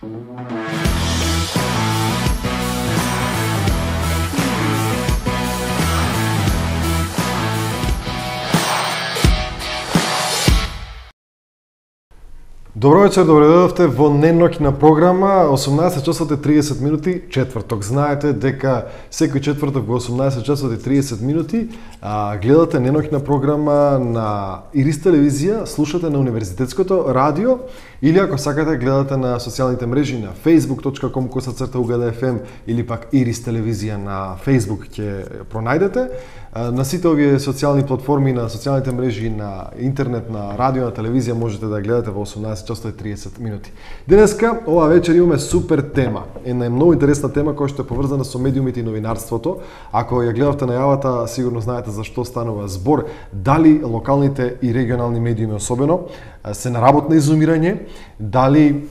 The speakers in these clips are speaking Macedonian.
Добро вечер, добре дојдовте во неноќна програма 18 часот и 30 минути четврток. Знаете дека секој четврток во 18 часот и 30 минути гледате неноќна програма на Ирис телевизија, слушате на Универзитетското радио или ако сакате гледате на социјалните мрежи на facebook.com/UGDFM или пак Ирис телевизија на Facebook ќе пронајдете. На сите овие социјални платформи, на социјалните мрежи, на интернет, на радио, на телевизија можете да гледате во 18 часот и 30 минути. Денеска, ова вечер имаме супер тема. Една многу интересна тема која што е поврзана со медиумите и новинарството. Ако ја гледавте најавата, сигурно знаете за што станува збор. Дали локалните и регионални медиуми особено се на работно изумирање, дали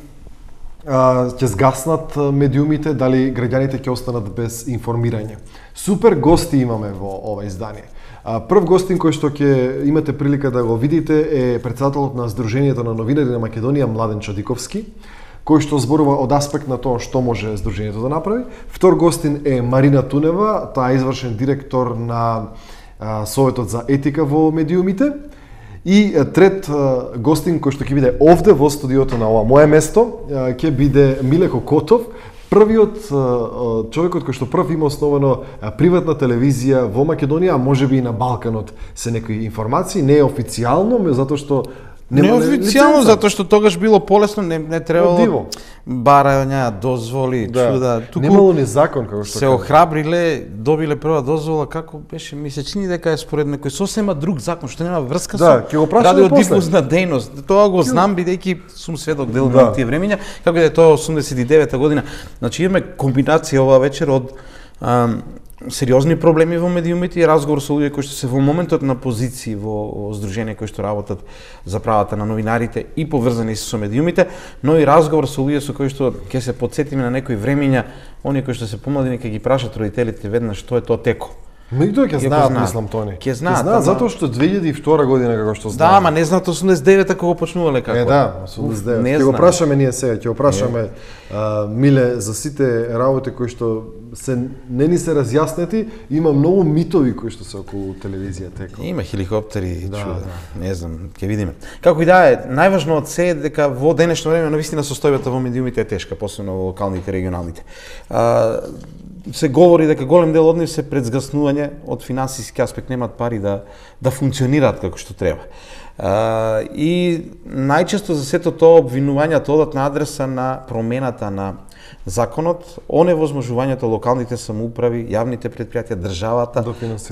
ќе згаснат медиумите, дали граѓаните ќе останат без информирање. Супер гости имаме во ова издание. Прв гостин кој што ќе имате прилика да го видите е претседателот на Сдруженијето на новинари на Македонија Младен Чадиковски, кој што зборува од аспект на тоа што може Сдруженијето да направи. Втор гостин е Марина Тунева, таа е извршен директор на Советот за етика во медиумите. И трет гостин кој што ќе биде овде во студиото на ова мое место, ќе биде Миле Кокотов, првиот човекот кој што прв има основано приватна телевизија во Македонија, а можеби и на Балканот се некои информации, не е официјално, затоа што не официјално, затоа што тогаш било полесно, не требало барања, дозволи, чуда. Немало ни закон, како што се охрабриле, добиле прва дозвола, како беше, ми се чини дека е според некој сосема друг закон, што нема врска со радиодифузна дејност. Тоа го знам, бидејќи сум сведок дел на тие времења, како да е тоа 89-та година. Значи имаме комбинација ова вечер од сериозни проблеми во медиумите и разговор со луѓе кои што се во моментот на позиции во здружение кои што работат за правата на новинарите и поврзани со медиумите, но и разговор со луѓе со кои што ќе се потсетиме на некои времења, оние кои што се помлади нека ги прашат родителите веднаш што е тоа теко. Меѓутоа ќе знаат, мислам, тони. Ќе знаат, затоа што 2002 година како што знаат. Да, ама не знаат 89-та кога почнувале како. Да, 89. Ќе го прашаме ние сега, ќе го прашаме Миле за сите работи кои што се не ни се разјаснети, има многу митови кои што се околу телевизија теко. Има хеликоптери, чуда. Не знам, ќе видиме. Како и да е, најважно од се е дека во денешно време навистина состојбата во медиумите е тешка, посебно во локалните и регионалните. Се говори дека голем дел од нив се пред згаснување, од финансиски аспект немаат пари да функционираат како што треба. И најчесто за сето тоа обвинувањата одат на адреса на промената на законот, оневозможувањето локалните самоуправи, јавните претпријатија, државата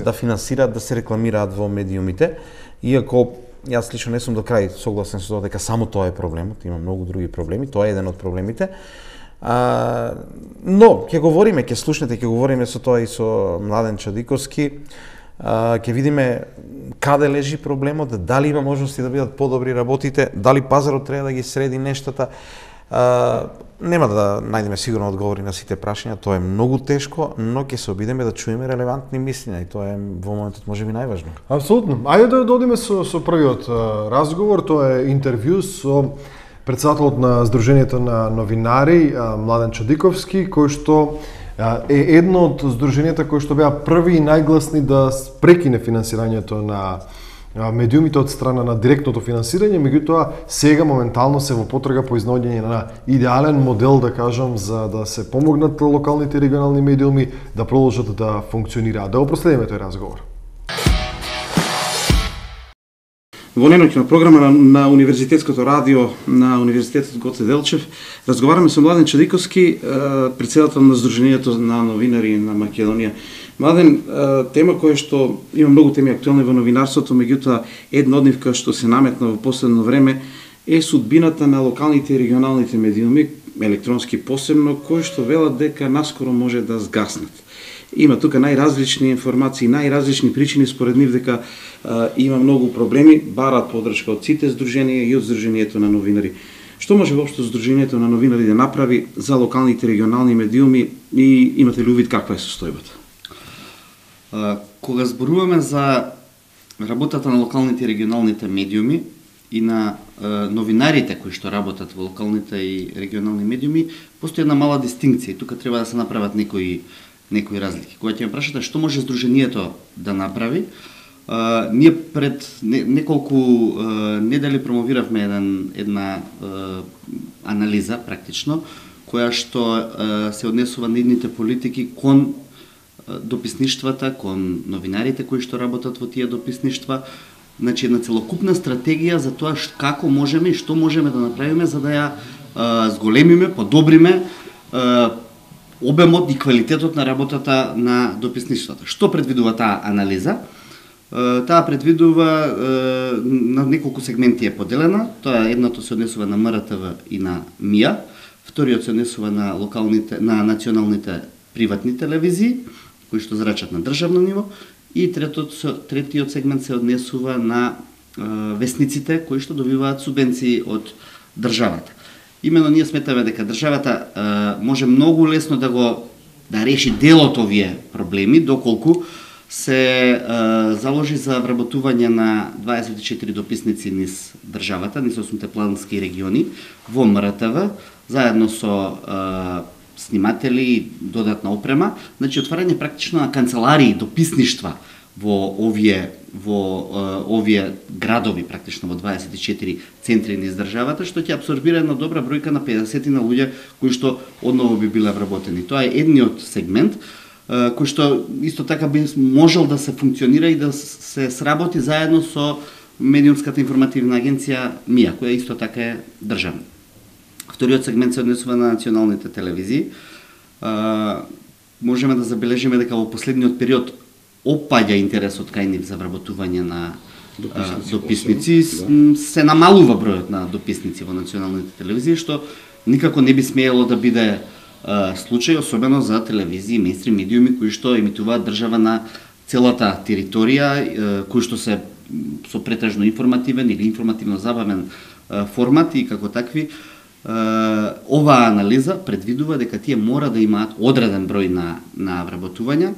да финансираат, да се рекламираат во медиумите. Иако јас лично не сум до крај согласен со тоа дека само тоа е проблемот, има многу други проблеми, тоа е еден од проблемите. Но ќе говориме, ќе слушнете, ќе говориме со тоа и со Младен Чадиковски. Ќе видиме каде лежи проблемот, дали има можности да бидат подобри работите, дали пазарот треба да ги среди нештата. Нема да најдеме сигурно одговори на сите прашања, тоа е многу тешко, но ќе се обидеме да чуеме релевантни мислења и тоа е во моментот можеби најважно. Апсолутно. Ајде да одиме со првиот разговор, тоа е интервју со претседателот на Сдруженијето на новинари Младен Чадиковски, кој што е едно од здруженијата кои што беа први и најгласни да прекине финансирањето на медиумите од страна на директното финансирање, меѓутоа сега моментално се во потрага по изнаоѓање на идеален модел, да кажам, за да се помогнат локалните и регионални медиуми да продолжат да функционираат. Да го проследиме тој разговор. Во неноќна програма на Универзитетското радио на Универзитетот Гоце Делчев разговараме со Младен Чадиковски, претседател на Сдруженијето на новинари на Македонија. Младен, тема која што има многу теми актуелни во новинарството, меѓутоа една од нив која што се наметна во последно време е судбината на локалните и регионалните медиуми, електронски посебно, кои што велат дека наскоро може да згаснат. Има тука најразлични информации, најразлични причини според нив дека има многу проблеми, бараат подршка од сите здруженија и од Сдруженијето на новинари. Што може воопшто Сдруженијето на новинари да направи за локалните регионални медиуми и имате ли увид каква е состојбата? Кога зборуваме за работата на локалните и регионалните медиуми, и на новинарите кои што работат во локалните и регионални медиуми, постои една мала дистинкција и тука треба да се направат некои разлики. Кога ќе ме прашате што може Сдруженијето да направи, ние пред неколку недели промовиравме една анализа практично, која што се однесува на идните политики кон дописништвата, кон новинарите кои што работат во тие дописништва, значи една целокупна стратегија за тоа како можеме и што можеме да направиме за да ја зголемиме, подобриме обемот и квалитетот на работата на дописништвата. Што предвидува таа анализа? Таа предвидува на неколку сегменти е поделена. Тоа едното се однесува на МРТВ и на МИА, вториот се однесува на на националните приватни телевизии кои што зрачат на државно ниво и третиот сегмент се однесува на весниците кои што добиваат субвенции од државата. Имено ние сметаме дека државата може многу лесно да реши дел од овие проблеми доколку се заложи за вработување на 24 дописници низ државата, низ 8 плански региони во МРТВ, заедно со сниматели и додатна опрема, значи отварање практично на канцеларии, дописништва во овие градови, практично во 24 центри низ државата, што ќе абсорбира една добра бројка на 50 на луѓе кои што одново би биле вработени. Тоа е едниот сегмент кој што исто така би можел да се функционира и да се сработи заедно со медиумската информативна агенција МИА, која исто така е државна. Вториот сегмент се однесува на националните телевизии. Можеме да забележиме дека во последниот период опаѓа интересот кај нив за вработување на дописници. Се намалува бројот на дописници во националните телевизии, што никако не би смеело да биде случај, особено за телевизии, мејнстрим медиуми кои што емитуваат држава на целата територија, кои што се со претежно информативен или информативно забавен формат и како такви. Оваа анализа предвидува дека тие мора да имаат одреден број на вработувања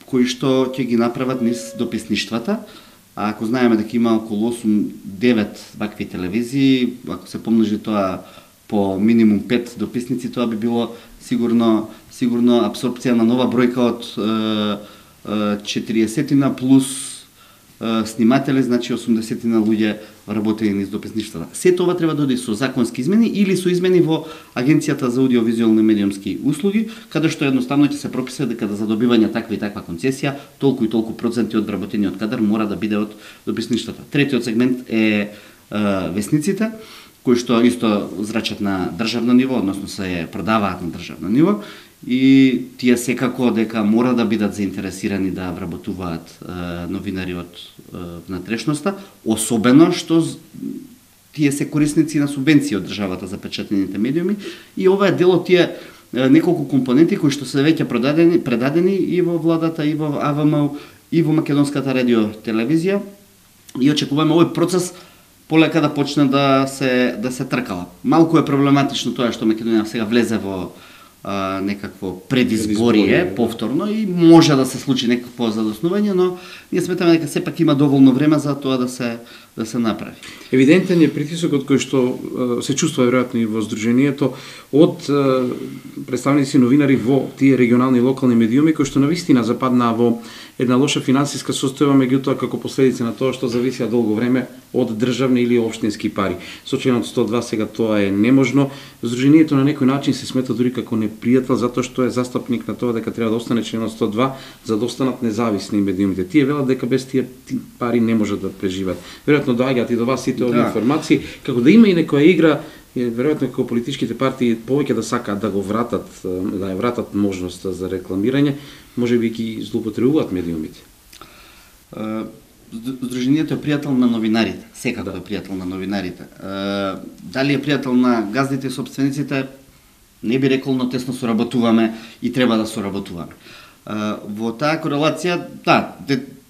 кои што ќе ги направат низ дописништвата. А ако знаеме дека има околу 8-9 вакви телевизии, ако се помножи тоа по минимум 5 дописници, тоа би било сигурно апсорбција на нова бројка од 40 плюс сниматели, значи 80 луѓе работени низ дописништвата. Сето ова треба да оди со законски измени или со измени во Агенцијата за аудиовизуелни медиумски услуги, каде што едноставно ќе се пропише дека за добивање таква и таква концесија, толку и толку проценти од вработениот кадар мора да биде од дописништвата. Третиот сегмент е весниците, кои што исто зрачат на државно ниво, односно се продаваат на државно ниво, и тие секако дека мора да бидат заинтересирани да вработуваат новинари од внатрешноста, особено што тие се корисници на субвенции од државата за печатените медиуми, и ова е дел од тие неколку компоненти кои што се веќе предадени и во владата, и во АВМ, и во Македонската радио телевизија, и очекуваме овој процес полека да почне да се тркала. Малку е проблематично тоа што Македонија сега влезе во некакво предизборие повторно и може да се случи некакво задоснување, но ние сметаме дека сепак има доволно време за тоа да се направи. Евидентен е притисокот кој што се чувствува веројатно и во Сдруженијето од представници новинари во тие регионални и локални медиуми кои што навистина западнаа во една лоша финансиска состојба, меѓутоа како последица на тоа што зависеа долго време од државни или општински пари. Со членот 102 сега тоа е неможно. Сдруженијето на некој начин се смета дури како непријател затоа што е застапник на тоа дека треба да остане членот 102 за да останат независни медиумите. Тие велат дека без тие пари не можат да преживеат. Веројатно доаѓаат и до вас сите овие информации, како да има и некоја игра, веројатно како политичките партии повеќе да сакаат да го вратат, да ја вратат можноста за рекламирање, можеби ги злоупотребуваат медиумите. Сдруженијето е пријател на новинарите, секако е пријател на новинарите. Дали е пријател на газдите и собствениците, не би рекол, но тесно соработуваме и треба да соработуваме. Во таа корелација,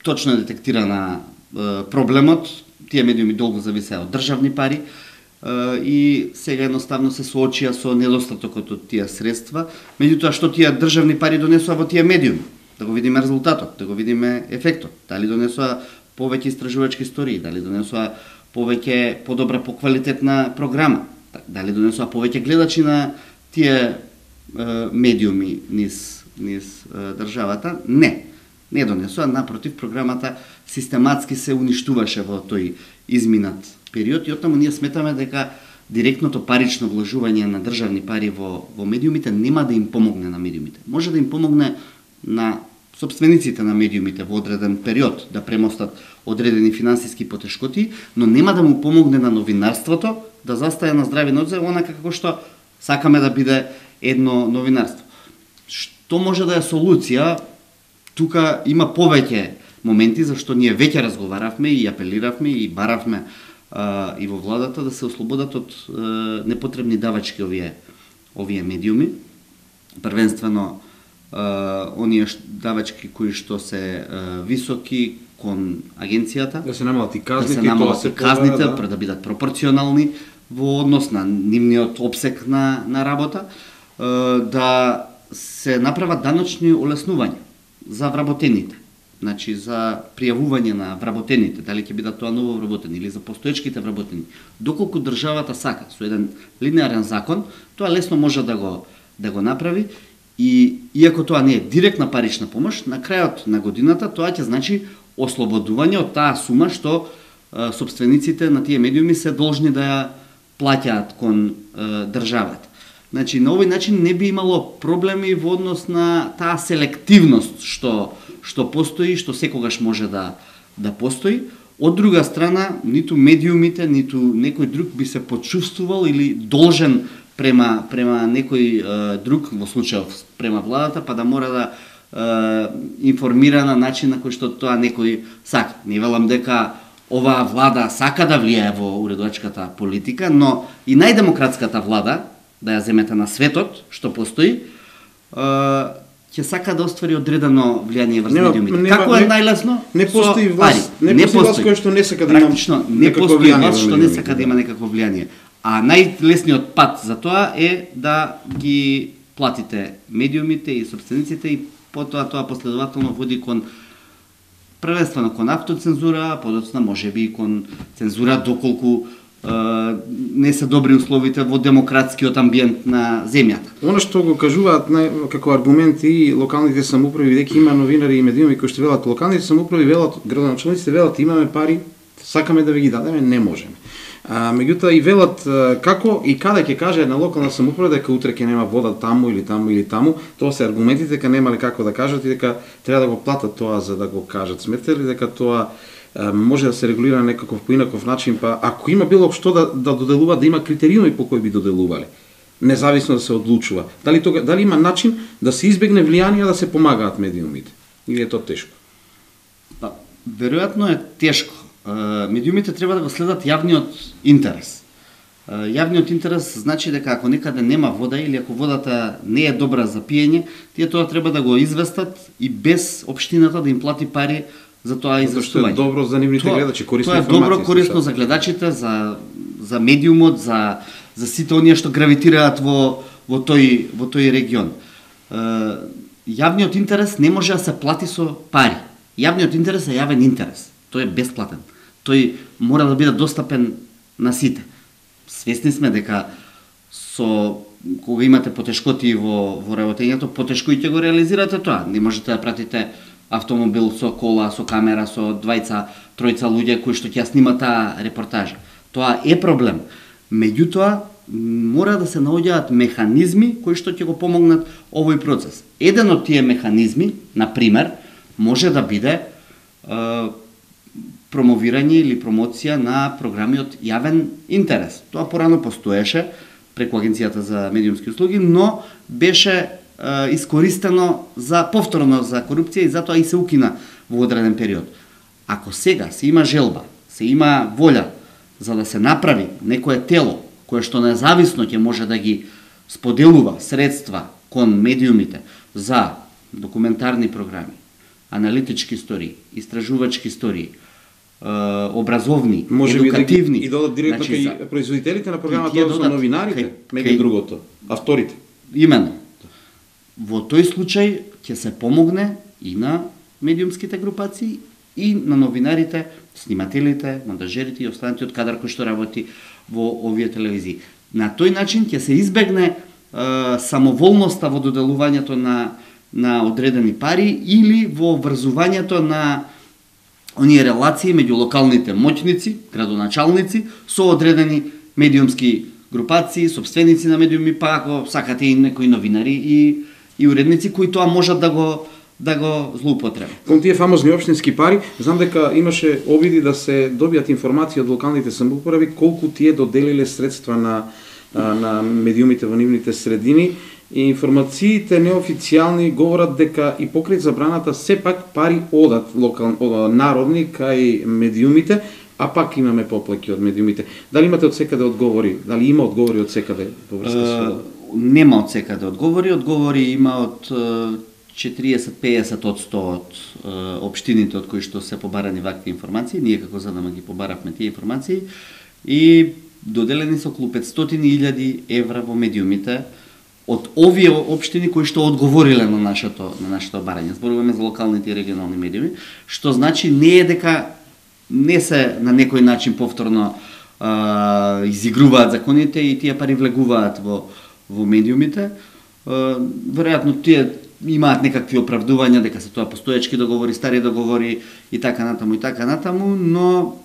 точно е детектирана проблемот, тие медиуми долго зависеа од државни пари, и сега едноставно се соочија со недостатокот од тие средства, меѓутоа што тие државни пари донесоа во тие медиуми, да го видиме резултатот, да го видиме ефектот, дали донесоа повеќе истражувачки истории, дали донесува повеќе подобра поквалитетна програма, дали донесува повеќе гледачи на тие медиуми низ државата? Не донесува, напротив, програмата систематски се уништуваше во тој изминат период и оттаму ние сметаме дека директното парично вложување на државни пари во медиумите нема да им помогне на медиумите. Може да им помогне на собствениците на медиумите во одреден период да премостат одредени финансиски потешкоти, но нема да му помогне на новинарството да застае на здрави нозе, онака како што сакаме да биде едно новинарство. Што може да е солуција? Тука има повеќе моменти зашто ние веќе разговаравме и апелиравме и баравме и во владата да се ослободат од непотребни давачки овие медиуми. Првенствено оние давачки кои што се високи кон агенцијата, да се намалат и казните, да се намалат и казните, да бидат пропорционални во однос на нивниот опсек на работа, да се направат даночни олеснувања за вработените. Значи за пријавување на вработените, дали ќе бидат тоа ново вработени или за постоечките вработени. Доколку државата сака со еден линеарен закон, тоа лесно може да го направи и иако тоа не е директна парична помош, на крајот на годината тоа ќе значи ослободување од таа сума што собствениците на тие медиуми се должни да ја плаќаат кон државата. Значи на овој начин не би имало проблеми во однос на таа селективност што постои, што секогаш може да постои. Од друга страна, ниту медиумите, ниту некој друг би се почувствувал или должен према некој друг, во случајов према владата, па да мора да информира на начин на кој што тоа некој сака. Не велам дека оваа влада сака да влијае во уредувачката политика, но и најдемократската влада, да ја земете на светот, што постои, ќе сака да оствари одредено влијание врз медиумите. Како е најлесно? Не постои власт. Не постои власт која што не сака да има некакво влијание. Власт што не сака да има некакво влијание. А најлесниот пат за тоа е да ги платите медиумите и собствениците и потоа тоа последователно води кон првенствено кон автоцензура, подоцна можеби и кон цензура доколку не се добри условите во демократскиот амбиент на земјата. Оно што го кажуваат како аргумент и локалните самоуправи, дека има новинари и медиуми кои што велат локалните самоуправи, велат градоначалниците, велат имаме пари, сакаме да ви ги дадеме, не можеме. Меѓутоа и велат како и каде ќе каже една локална самоуправа дека утре ќе нема вода таму или таму или таму, тоа се аргументите дека немале како да кажат и дека треба да го платат тоа за да го кажат. Сметате ли дека тоа може да се регулира некаков поинаков начин, па ако има било што да доделува, да има критериуми по кои би доделувале, независно да се одлучува. Дали има начин да се избегне влијание да се помагаат медиумите? Или е тоа тешко? Па, веројатно е тешко. Медиумите треба да го следат јавниот интерес. Јавниот интерес значи дека ако некаде нема вода или ако водата не е добра за пиење, тие тоа треба да го известат и без општината да им плати пари за тоа известување. Тоа е добро за нивните гледачи, корисно информација. Тоа е добро, корисно за гледачите, за медиумот, за сите оние што гравитираат во тој регион. Јавниот интерес не може да се плати со пари. Јавниот интерес е јавен интерес. Тој е бесплатен. Тој мора да биде достапен на сите. Свесни сме дека кога имате потешкоти во работењето, потешко и ќе го реализирате тоа. Не можете да пратите автомобил со кола, со камера, со тројца луѓе кои што ќе снимат таа репортажа. Тоа е проблем. Меѓутоа, мора да се наоѓаат механизми кои што ќе го помогнат овој процес. Еден од тие механизми, на пример, може да биде промовирање или промоција на програми од јавен интерес. Тоа порано постоеше преку Агенцијата за медиумски услуги, но беше искористено повторно за корупција и затоа и се укина во одреден период. Ако сега се има желба, се има волја за да се направи некое тело кое што независно ќе може да ги споделува средства кон медиумите за документарни програми, аналитички истории, истражувачки истории, образовни, едукативни. И додат директно кај производителите на програмата, односно новинарите, меѓу другото, авторите. Именно. Во тој случај ќе се помогне и на медиумските групации и на новинарите, снимателите, монтажерите и останати од кадар кој што работи во овие телевизии. На тој начин ќе се избегне самоволноста во доделувањето на одредени пари или во врзувањето на оние релации меѓу локалните моќници, градоначалници, со одредени медиумски групации, собственици на медиуми, па ако сакате и некои новинари и уредници кои тоа можат да го злоупотребат. Кон тие фамозни општински пари, знам дека имаше обиди да се добијат информации од локалните самоуправи колку тие доделиле средства на медиумите во нивните средини, и информациите неофицијални говорат дека и покрај забраната сепак пари одат народни кај медиумите, а пак имаме поплаки од медиумите. Дали имате од секаде одговори? Дали има одговори од секаде во врска со? Нема од секаде одговори. Одговори има од 40-50% од општините од кои што се побарани вакви информации. Ние како ЗДМ ги побаравме тие информации и доделени се околу 500.000 евра во медиумите од овие општини кои што одговориле на нашето барање. Зборуваме за локалните и регионални медиуми, што значи не е дека не се на некој начин повторно изигруваат законите и тие пари влегуваат во медиумите. Веројатно тие имаат некакви оправдувања дека се тоа постоечки договори, стари договори и така натаму, но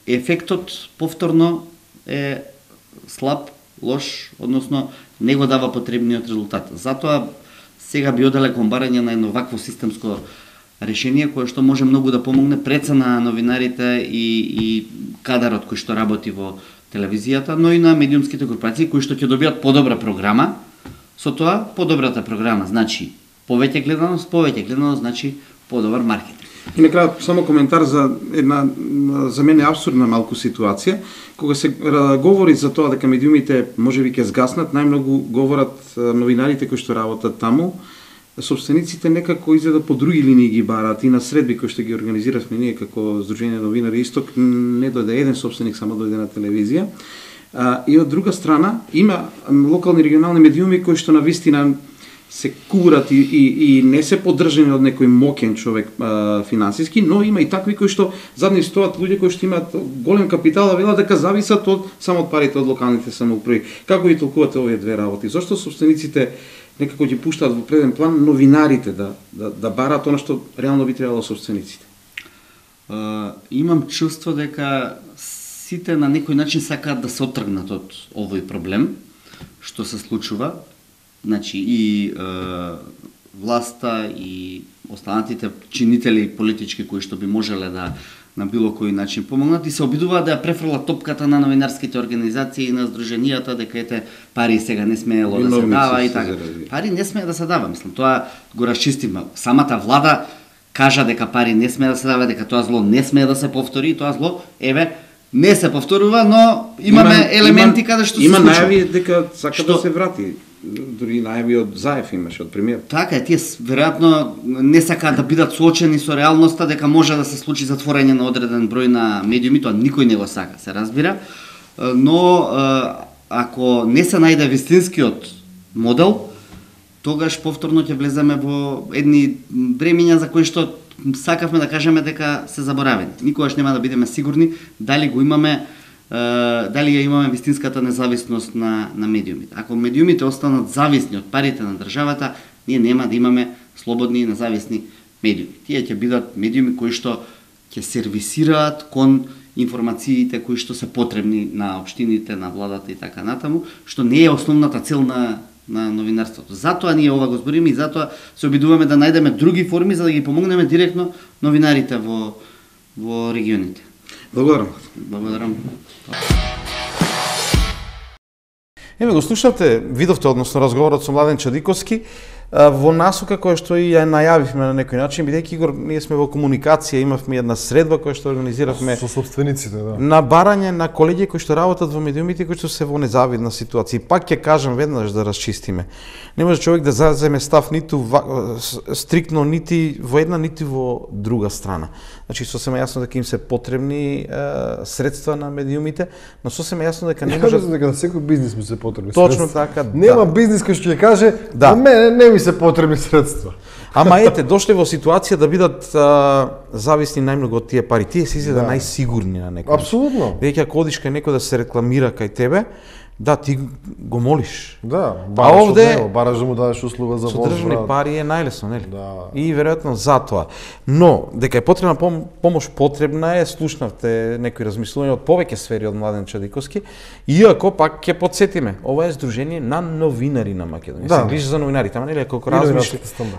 ефектот повторно е слаб, лош, односно не го дава потребниот резултат. Затоа сега би оделе кон барање на едно вакво системско решение кое што може многу да помогне преца на новинарите и кадарот кој што работи во телевизијата, но и на медиумските групации кои што ќе добијат подобра програма. Со тоа подобрата програма значи повеќе гледаност значи подобар маркетинг. И на крај само коментар за една за мене апсурдна малку ситуација, кога се говори за тоа дека медиумите можеби ќе згаснат, најмногу говорат новинарите кои што работат таму. Собствениците некако изгледа по други линии ги бараат и на средби кои што ги организиравме ние како Сдружение новинари Исток, не дојде еден собственик, само дојде на телевизија. И од друга страна има локални регионални медиуми кои што навистина се курат и не се поддржани од некој моќен човек финансиски, но има и такви кои што зад нив стоат луѓе кои што имаат голем капитал, а велат дека зависат само од парите од локалните самоуправи. Како ги толкувате овие две работи? Зошто собствениците некако ги пуштаат во преден план новинарите да бараат она што реално би требало собствениците? Имам чувство дека сите на некој начин сакаат да се оттргнат од овој проблем што се случува. Значи и власта и останатите чинители политички кои што би можеле да на било кој начин помогнат и се обидуваат да ја префрлат топката на новинарските организации и на здруженијата дека ете пари сега не смеело да се дава и така. Пари не смее да се дава, мислам, тоа го расчистиме. Самата влада кажа дека пари не смее да се дава, дека тоа зло не смее да се повтори и тоа зло не се повторува, но имаме елементи каде што се случува. Има најави дека сака да се врати. Дури најави од Заев имаше, од премиер. Така е, тие веројатно не сакаат да бидат соочени со реалноста дека може да се случи затворање на одреден број на медиуми, тоа никој не го сака, се разбира. Но ако не се најде вистинскиот модел, тогаш повторно ќе влеземе во едни времиња за кои што сакавме да кажеме дека се заборавени. Никогаш нема да бидеме сигурни дали го имаме дали ја имаме вистинската независност на медиумите. Ако медиумите останат зависни од парите на државата, ние нема да имаме слободни и независни медиуми. Тие ќе бидат медиуми кои што ќе сервисираат кон информациите кои што се потребни на општините, на владата и така натаму, што не е основната цел на новинарството. Затоа ние ова го збориме и затоа се обидуваме да најдеме други форми за да ги помогнеме директно новинарите во регионите. Благодарам. Го слушавте, видовте, односно разговорот со Младен Чадиковски, во насока која што и ја најавивме на некој начин, бидејќи Игор, ние сме во комуникација, имавме една средба која што организиравме со собствениците, на барање на колеги кои што работат во медиумите кои што се во незавидна ситуација. Пак ќе кажам веднаш да расчистиме. Не може човек да заземе став ниту стриктно нити во една нити во друга страна. Значи сосема јасно дека им се потребни средства на медиумите, но сосема јасно дека не може дека на секој бизнис му се потребни точно средства. така. Нема бизнис кој што ќе каже, на мене не ми ми се потребни средства. Ама ете, дошле во ситуација да бидат зависни најмногу од тие пари. Тие се изгледа најсигурни на некој. Апсолутно. Веќе ако одиш кај некој да се рекламира кај тебе, да, ти го молиш. Да, бараш од него, бараш да му дадеш услуга за возврат. Со државни пари е најлесно, нели? Да. И веројатно затоа. Но, дека е потребна помош, потребна е, слушнавте некои размислувања од повеќе сфери од Младен Чадиковски, иако пак ќе потсетиме, ова е Сдружение на новинари на Македонија. Се грижи за новинарите, ама нели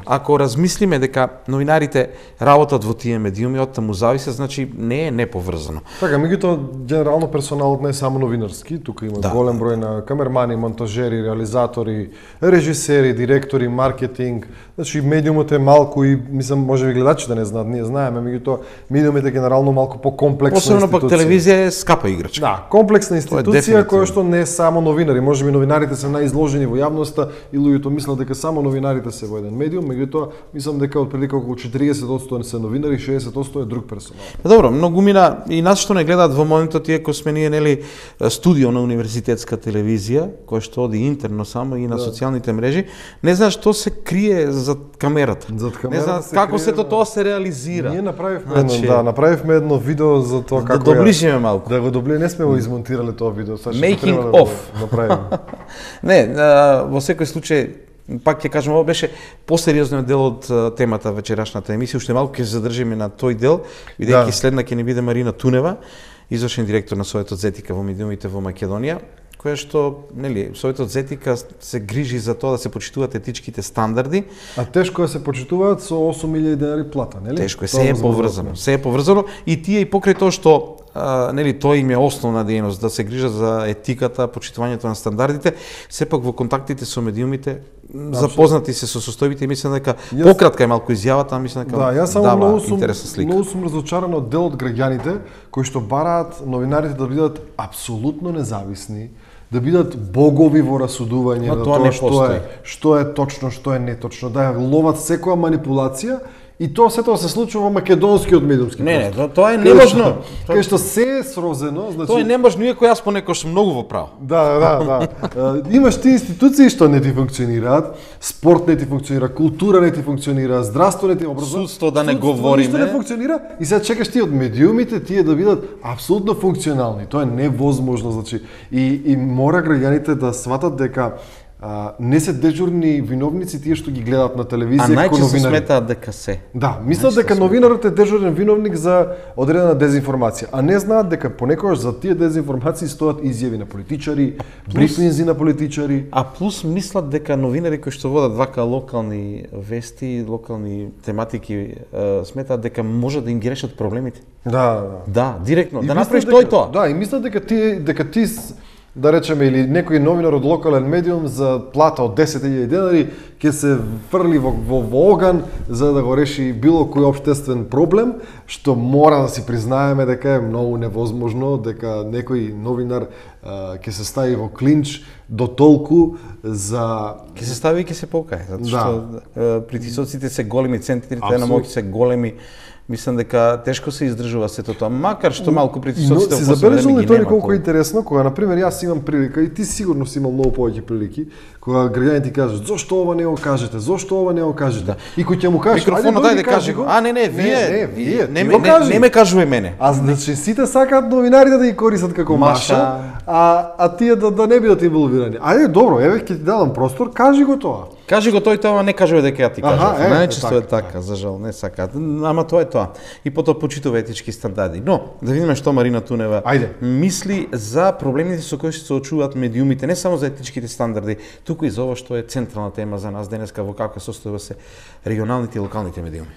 ако размислиме дека новинарите работат во тие медиуми, од таму зависе, значи не е неповрзано. Така, меѓутоа генерално персоналот не е само новинарски, тука има голем број на камермани, монтажери, реализатори, режисери, директори, маркетинг. Значи медиумот е малку и мислам можеби гледачите не знаат, ние знаеме, меѓутоа медиумот е генерално малку покомплексна институција. Посебно пак телевизија е скапа играчка. Да, комплексна институција која што не е само новинари, можеби новинарите се најизложени во јавноста и луѓето мислат дека само новинарите се во еден медиум, меѓутоа мислам дека отприлика околу 40% се новинари, 60% е друг персонал. Добро, многумина и нас што не гледаат во моментот, иако сме ние нели студио на универзитетска телевизија, која што оди интерно само и на социјалните мрежи, не знаат што се крие зад камерата. Не знаат како сето тоа се реализира. Ние направивме едно видео за тоа како да доближиме малку. Да го доближиме, не сме го измонтирале тоа видео, Making of. Направиме. Не, во секој случај пак ќе кажам, ова беше посериозниот дел од темата вечерашната емисија, уште малку ќе се задржиме на тој дел, бидејќи следна ќе ни биде Марина Тунева, извршен директор на Советот за етика во медиумите во Македонија, која што, нели, Советот за етика се грижи за тоа да се почитуваат етичките стандарди. А тешко е се почитуваат со 8.000 денари плата, нели? Тешко е, се е поврзано. Се е поврзано и тие и покрај тоа што нели тоа им е основна дејност да се грижат за етиката, почитувањето на стандардите, сепак во контактите со медиумите запознати се со состојбите и мислам дека пократка е малку изјавата, а мислам дека дава интересна слика. Многу сум разочаран од дел од граѓаните кои што бараат новинарите да бидат апсолутно независни, да бидат богови во расудување на тоа што е точно, што е неточно, да ловат секоја манипулација. И тоа сето се случува во македонскиот медиумски простор. Не, тоа е неможно. Кај што се е срозено, значи тоа е неможно, иако јас понекогаш сум многу во право. Да. Имаш ти институции што не ти функционираат, спорт не ти функционира, култура не ти функционира, здравство не ти образование. Судство да не говориме. Ништо не функционира и сега чекаш ти од медиумите тие да бидат апсолутно функционални. Тоа е невозможно, значи и мора граѓаните да сватат дека не се дежурни виновници тие што ги гледаат на телевизија како новинари. А најчесто сметаат дека се. Да, мислат дека новинарот е дежурен виновник за одредена дезинформација, а не знаат дека понекогаш за тие дезинформации стојат изјави на политичари, брифинзи на политичари. А плюс мислат дека новинари кои што водат вака локални вести, локални тематики, сметаат дека може да им ги решат проблемите. Да, директно, да направиш тоа и тоа. Да, и мислат дека ти да речеме, или некој новинар од локален медиум за плата од 10.000 денари ќе се фрли во оган за да го реши било кој општествен проблем, што мора да си признаеме дека е многу невозможно, дека некој новинар ќе се стави во клинч до толку за... Ќе се стави и ќе се покае, затоа што притисоците се големи, центрите на моќ се големи. Мислам дека тешко се издржува сето тоа, макар што малку притисоците во последно време ги нема. Колку е интересно, кога на пример јас имам прилика и ти сигурно си имал многу повеќе прилики, кога граѓаните ти кажат зошто ова не го кажете, зошто ова не го кажете. И кој ќе му кажеш, микрофонот дај да кажи го. А не, вие не ме кажувај мене. А значи сите сакаат новинарите да ги користат како маша, а тие да не бидат инволвирани. Ајде добро, еве ќе ти дадам простор, кажи го тоа. Кажи го тој тоа, не кажува дека ја ти кажав. Најчесто е така, за жал, не сакаат. Ама тоа е тоа. И потоа почитува етички стандарди. Но, да видиме што Марина Тунева мисли за проблемите со кои се соочуваат медиумите, не само за етичките стандарди, туку и за ова што е централна тема за нас денеска, во каква состојба се регионалните и локалните медиуми.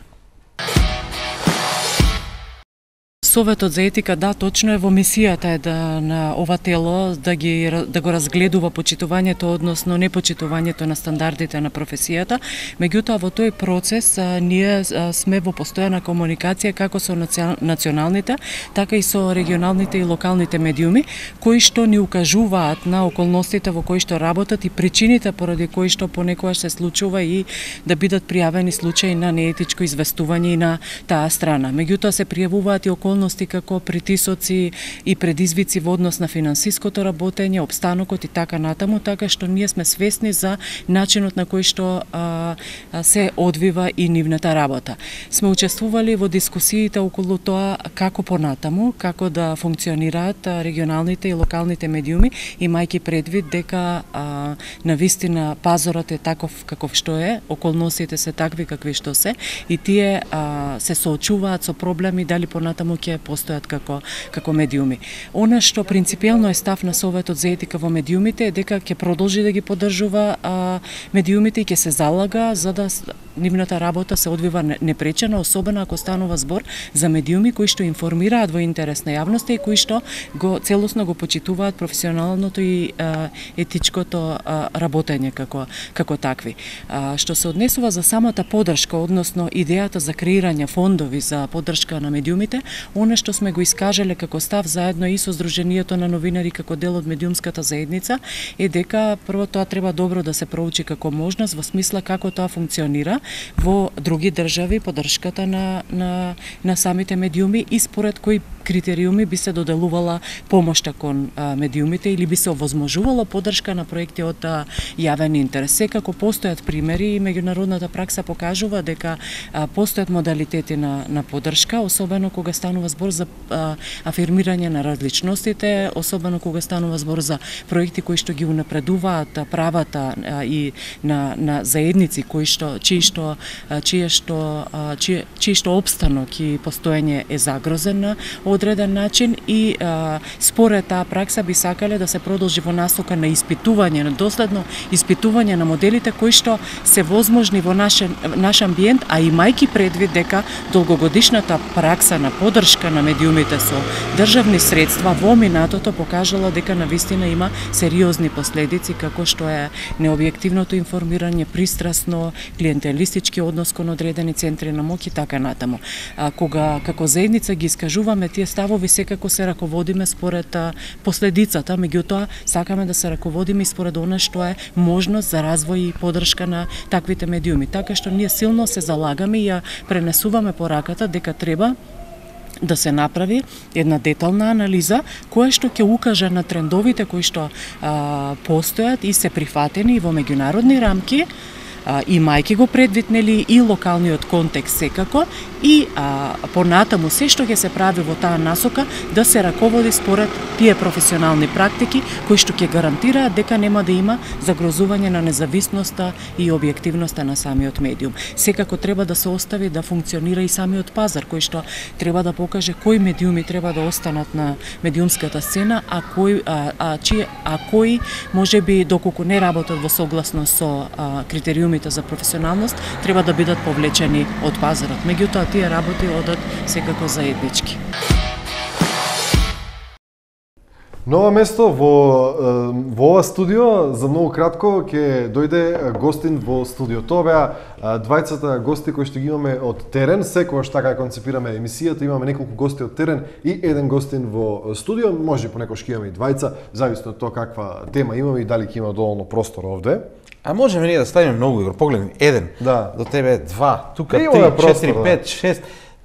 Советот за етика, да, точно е во мисијата на ова тело да го разгледува почитувањето, односно непочитувањето на стандардите на професијата. Меѓутоа, во тој процес ние сме во постојана комуникација како со националните, така и со регионалните и локалните медиуми, кои што ни укажуваат на околностите во кои што работат и причините поради кои што понекогаш се случува и да бидат пријавени случаи на неетичко известување и на таа страна. Меѓутоа се пријавуваат и околности реалности како притисоци и предизвици во однос на финансиското работење, обстанокот и така натаму, така што ние сме свесни за начинот на кој што се одвива и нивната работа. Сме учествували во дискусиите околу тоа како понатаму, како да функционираат регионалните и локалните медиуми, имајќи предвид дека навистина пазарот е таков каков што е, околностите се такви какви што се и тие се соочуваат со проблеми дали понатаму ќе постојат како медиуми. Она што принципиелно е став на Советот за етика во медиумите е дека ќе продолжи да ги поддржува медиумите и ќе се залага за да нивната работа се одвива непречено, особено ако станува збор за медиуми кои што информираат во интерес на јавноста и кои што целосно го почитуваат професионалното и етичкото работење како такви. Што се однесува за самата поддршка, односно идејата за креирање фондови за поддршка на медиумите, она што сме го искажале како став заедно и со Сдруженијето на новинари како дел од медиумската заедница е дека прво тоа треба добро да се проучи како можност во смисла како тоа функционира во други држави, поддршката на самите медиуми и според кои критериуми би се доделувала помошта кон медиумите или би се овозможувала поддршка на проекти од јавен интерес. Секако постојат примери и меѓународната пракса покажува дека постојат модалитети на поддршка, особено кога станува збор за афирмирање на различностите, особено кога станува збор за проекти кои што ги унапредуваат правата и на заедници чиј што обстанок и постоење е загрозен на одреден начин и според таа пракса би сакале да се продолжи во насока на испитување, на доследно испитување на моделите кои што се возможни во наш амбиент, а имајќи предвид дека долгогодишната пракса на поддршка на медиумите со државни средства во минатото покажала дека навистина има сериозни последици како што е необјективното информирање, пристрасно, клиентелистички однос кон одредени центри на моќ и така натаму. Кога како заедница ги искажуваме тие ставови, секако се раководиме според последицата, меѓутоа сакаме да се раководиме и според она што е можност за развој и поддршка на таквите медиуми. Така што ние силно се залагаме и ја пренесуваме пораката дека треба да се направи една детална анализа која што ќе укаже на трендовите кои што постојат и се прифатени во меѓународни рамки, имајќи го предвид нели и локалниот контекст секако и понатаму се што ќе се прави во таа насока да се раководи според тие професионални практики кои што ќе гарантираат дека нема да има загрозување на независноста и објективноста на самиот медиум. Секако треба да се остави да функционира и самиот пазар кој што треба да покаже кои медиуми треба да останат на медиумската сцена, а кои можеби доколку не работат во согласност со критериумите за професионалност треба да бидат повлечени од пазарот. Меѓутоа тие работи одат секако заеднички. Ново место во ова студио, за многу кратко ќе дојде гостин во студио. Тоа беа двајцата гости кои што ги имаме од терен. Секогаш така концепираме емисијата, имаме неколку гости од терен и еден гостин во студио. Може понекогаш ќе имаме и двајца, зависно од тоа каква тема имаме и дали ќе има доволно простор овде. А можеме ние да ставиме многу игро, погледни, еден, до тебе два, тука 3, 4, 5, 6,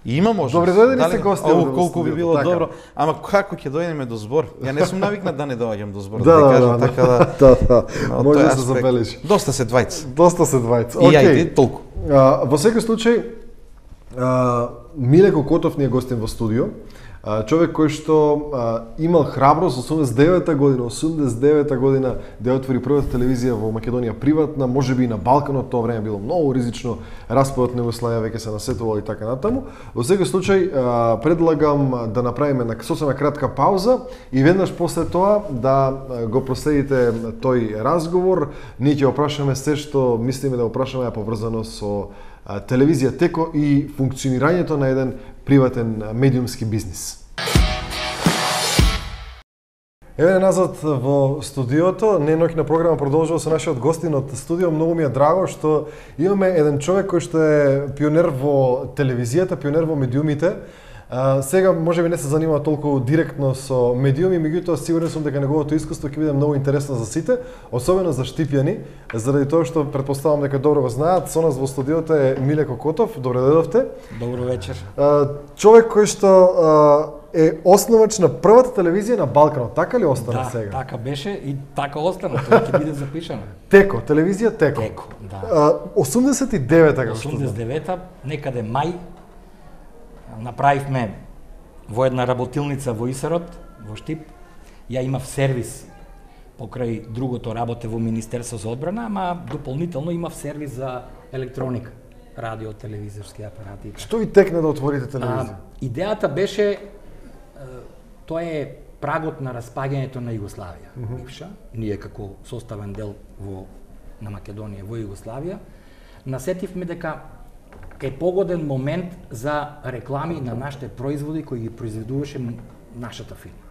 има можност. Добре, дојдени се гости. Колку би било добро, ама како ќе дојдеме до збор? Ја не сум навикнат да не доаѓам до збор, да кажам, така да. Може да се забележи. Доста се двајца. Океј. И ајде толку. Во секој случај, Миле Кокотов ни е гостин во студио. Човек кој што имал храброст 89-та година да отвори првата телевизија во Македонија приватна, можеби и на Балканот, тоа време било многу ризично, распадот на Југославија веќе се насетувал и така натаму. Во секој случај предлагам да направиме на сосема кратка пауза и веднаш после тоа да го проследите тој разговор. Ние ќе опрашаме се што мислиме да опрашаме поврзано со телевизија теко и функционирањето на еден приватен медиумски бизнис. Еве назад во студиото, неноќна програма продолжува со нашиот гостин од студио. Многу ми е драго што имаме еден човек кој што е пионер во телевизијата, пионер во медиумите. Сега можеби не се занимава толку директно со медиуми, меѓутоа сигурен сум дека неговото искуство ќе биде многу интересно за сите, особено за штипјани, заради тоа што претпоставам дека добро го знаат. Со нас во студиото е Миле Кокотов. Добре дојдовте. Добро вечер. Човек кој што е основач на првата телевизија на Балканот, така ли остана сега? Да, така беше и така остана, тоа ќе биде запишано. Теко, телевизија Теко. Теко, да. 89-та, како што знам. 89-та, некаде мај, направивме во една работилница во Исарот, во Штип. Ја имав сервис покрај другото работе во Министерство за одбрана, ама дополнително имав сервис за електроника, радио, телевизорски апарати. Што ви текна да отворите телевизија? Идејата беше, тоа е прагот на распаѓањето на Југославија, бивша. Ние како составен дел на Македонија во Југославија, насетивме дека е погоден момент за реклами на нашите производи кои ги произведуваше нашата фирма.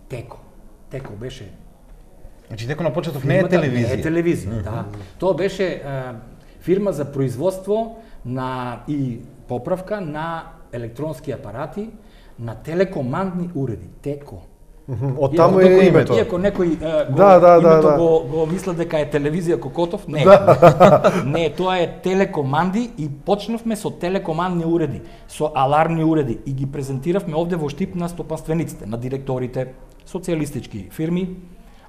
Теко. Теко беше... Значи Теко на почеток не е телевизија. Не е телевизија, да. Тоа беше фирма за производство и поправка на електронски апарати, на телекомандни уреди. Теко. Од таму е името. Иако некој го мисля дека е телевизија Кокотов, не. Не, тоа е телекоманди и почнавме со телекомандни уреди, со алармни уреди и ги презентиравме овде во Штип на стопанствениците, на директорите, социјалистички фирми.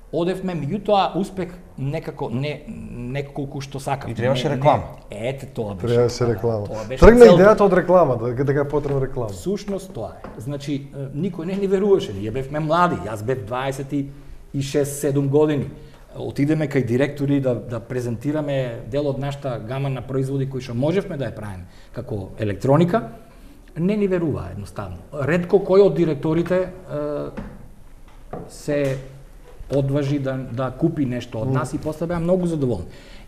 Одевме, меѓутоа успех некако не колку што сакам. И требаше реклама. Ете тоа беше. Требаше реклама. Тргна идејата од реклама, дека е потребна реклама. Всушност тоа е. Значи никој не ни веруваше, ние бевме млади, јас бев 26-7 години. Отидеме кај директори да презентираме дел од нашата гама на производи кои што можевме да ја правиме како електроника, не ни веруваа едноставно. Ретко кој од директорите се одважи да купи нешто од нас и после беа многу задоволни.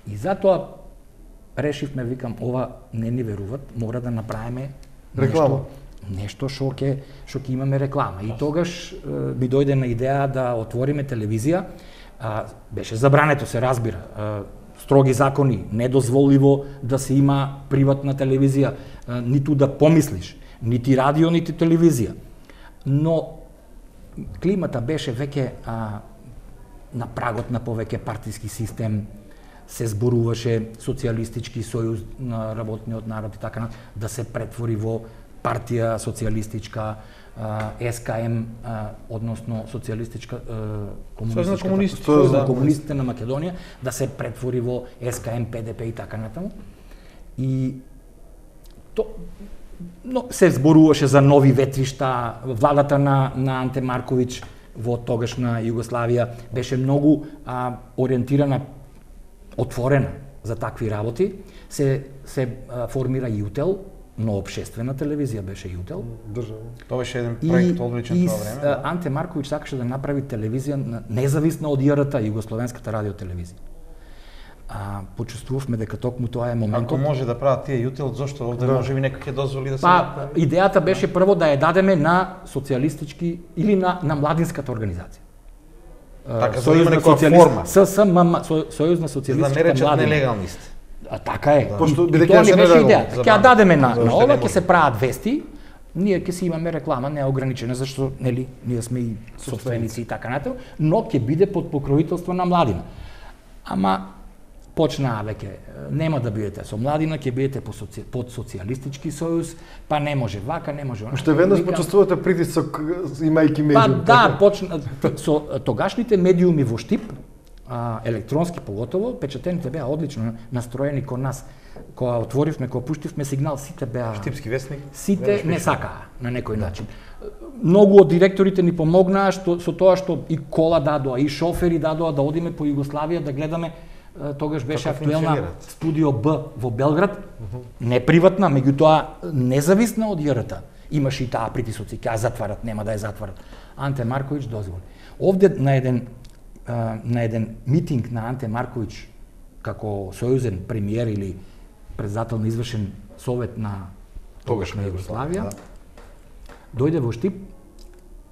И затоа решивме, викам, ова не ни веруват, мора да направиме нешто што ќе имаме реклама. И тогаш ми дојде на идеја да отвориме телевизија. Беше забрането, се разбира. Строги закони, недозволиво да се има приватна телевизија, ниту да помислиш, нити радио, нити телевизија. Но климата беше веќе на прагот на повеќе партиски систем, се зборуваше социјалистички сојуз на работниот народ и така да се претвори во партија социјалистичка, СКМ, односно социјалистичка сојуз на комунистите на Македонија, да се претвори во СКМ, ПДП и така натаму. И но се зборуваше за нови ветришта, владата на Анте Марковиќ во тогашна Југославија беше многу ориентирана, отворена за такви работи. Се формира Јутел, но општествена телевизија беше Јутел. Тоа беше еден проект одличен тоа време. И Анте Марковиќ сакаше да направи телевизија независна од ЈРТ, Југословенската радиотелевизија. Почувствувавме дека токму тоа е моментот. Ако може да прават тие Јутел, зошто овде може би некој ќе дозволи да се... Идејата беше прво да ја дадеме на социјалистички или на младинската организација. Така, за да има некоја форма. Сојуз на социјалистичките младини. Да не речат нелегалнист. Така е. Пошто И тоа не беше идејата. Ќе ја дадеме на ова, ќе се прават вести, ние ќе си имаме реклама неограничена, зашто нели ние сме и собственици и така натаму, но ќе биде под покровителство на младина. Ама почнаа веќе, нема да бидете со младина, ќе бидете под социјалистички сојуз, па не може вака, не може онака. Уште веднаш почувствувате притисок имајќи медиум. Па да, почна со тогашните медиуми во Штип, електронски поготово, печатените беа одлично настроени кон нас. Кога отворивме, кога пуштивме сигнал, сите беа... Штипски вестник? Сите не сакаа на некој начин. Многу од директорите ни помогнаа со тоа што и кола дадоа, и шофери дадоа да одиме по Југославија да гледаме. Тогаш беше актуелна Студио Б во Белград, не приватна, меѓутоа независна од ЈРТ. Имаше и таа притисоци, ќе ја затварат, нема да ја затварат. Анте Марковиќ дозволи. Овде на еден митинг на Анте Марковиќ како сојузен премиер или председател на извршен совет на тогашна Југославија, дојде во Штип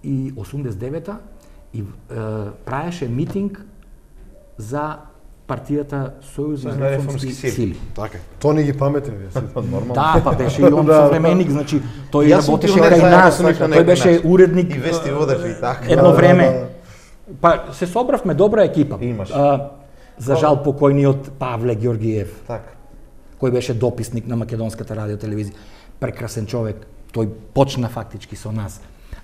и 89-та и правеше митинг за партијата Сојуз на реформски сили. Така. Тони ги паметен вие сите. Нормално. Да, па беше и он современик, значи тој Јас сум работеше пионер кај заедно нас, со нив на тој некој беше начин. уредник И вести водев и така. едно време. Па се собравме добра екипа. Имаш. За жал покојниот Павле Ѓоргиев, Така. кој беше дописник на Македонската радиотелевизија. Прекрасен човек, тој почна фактички со нас.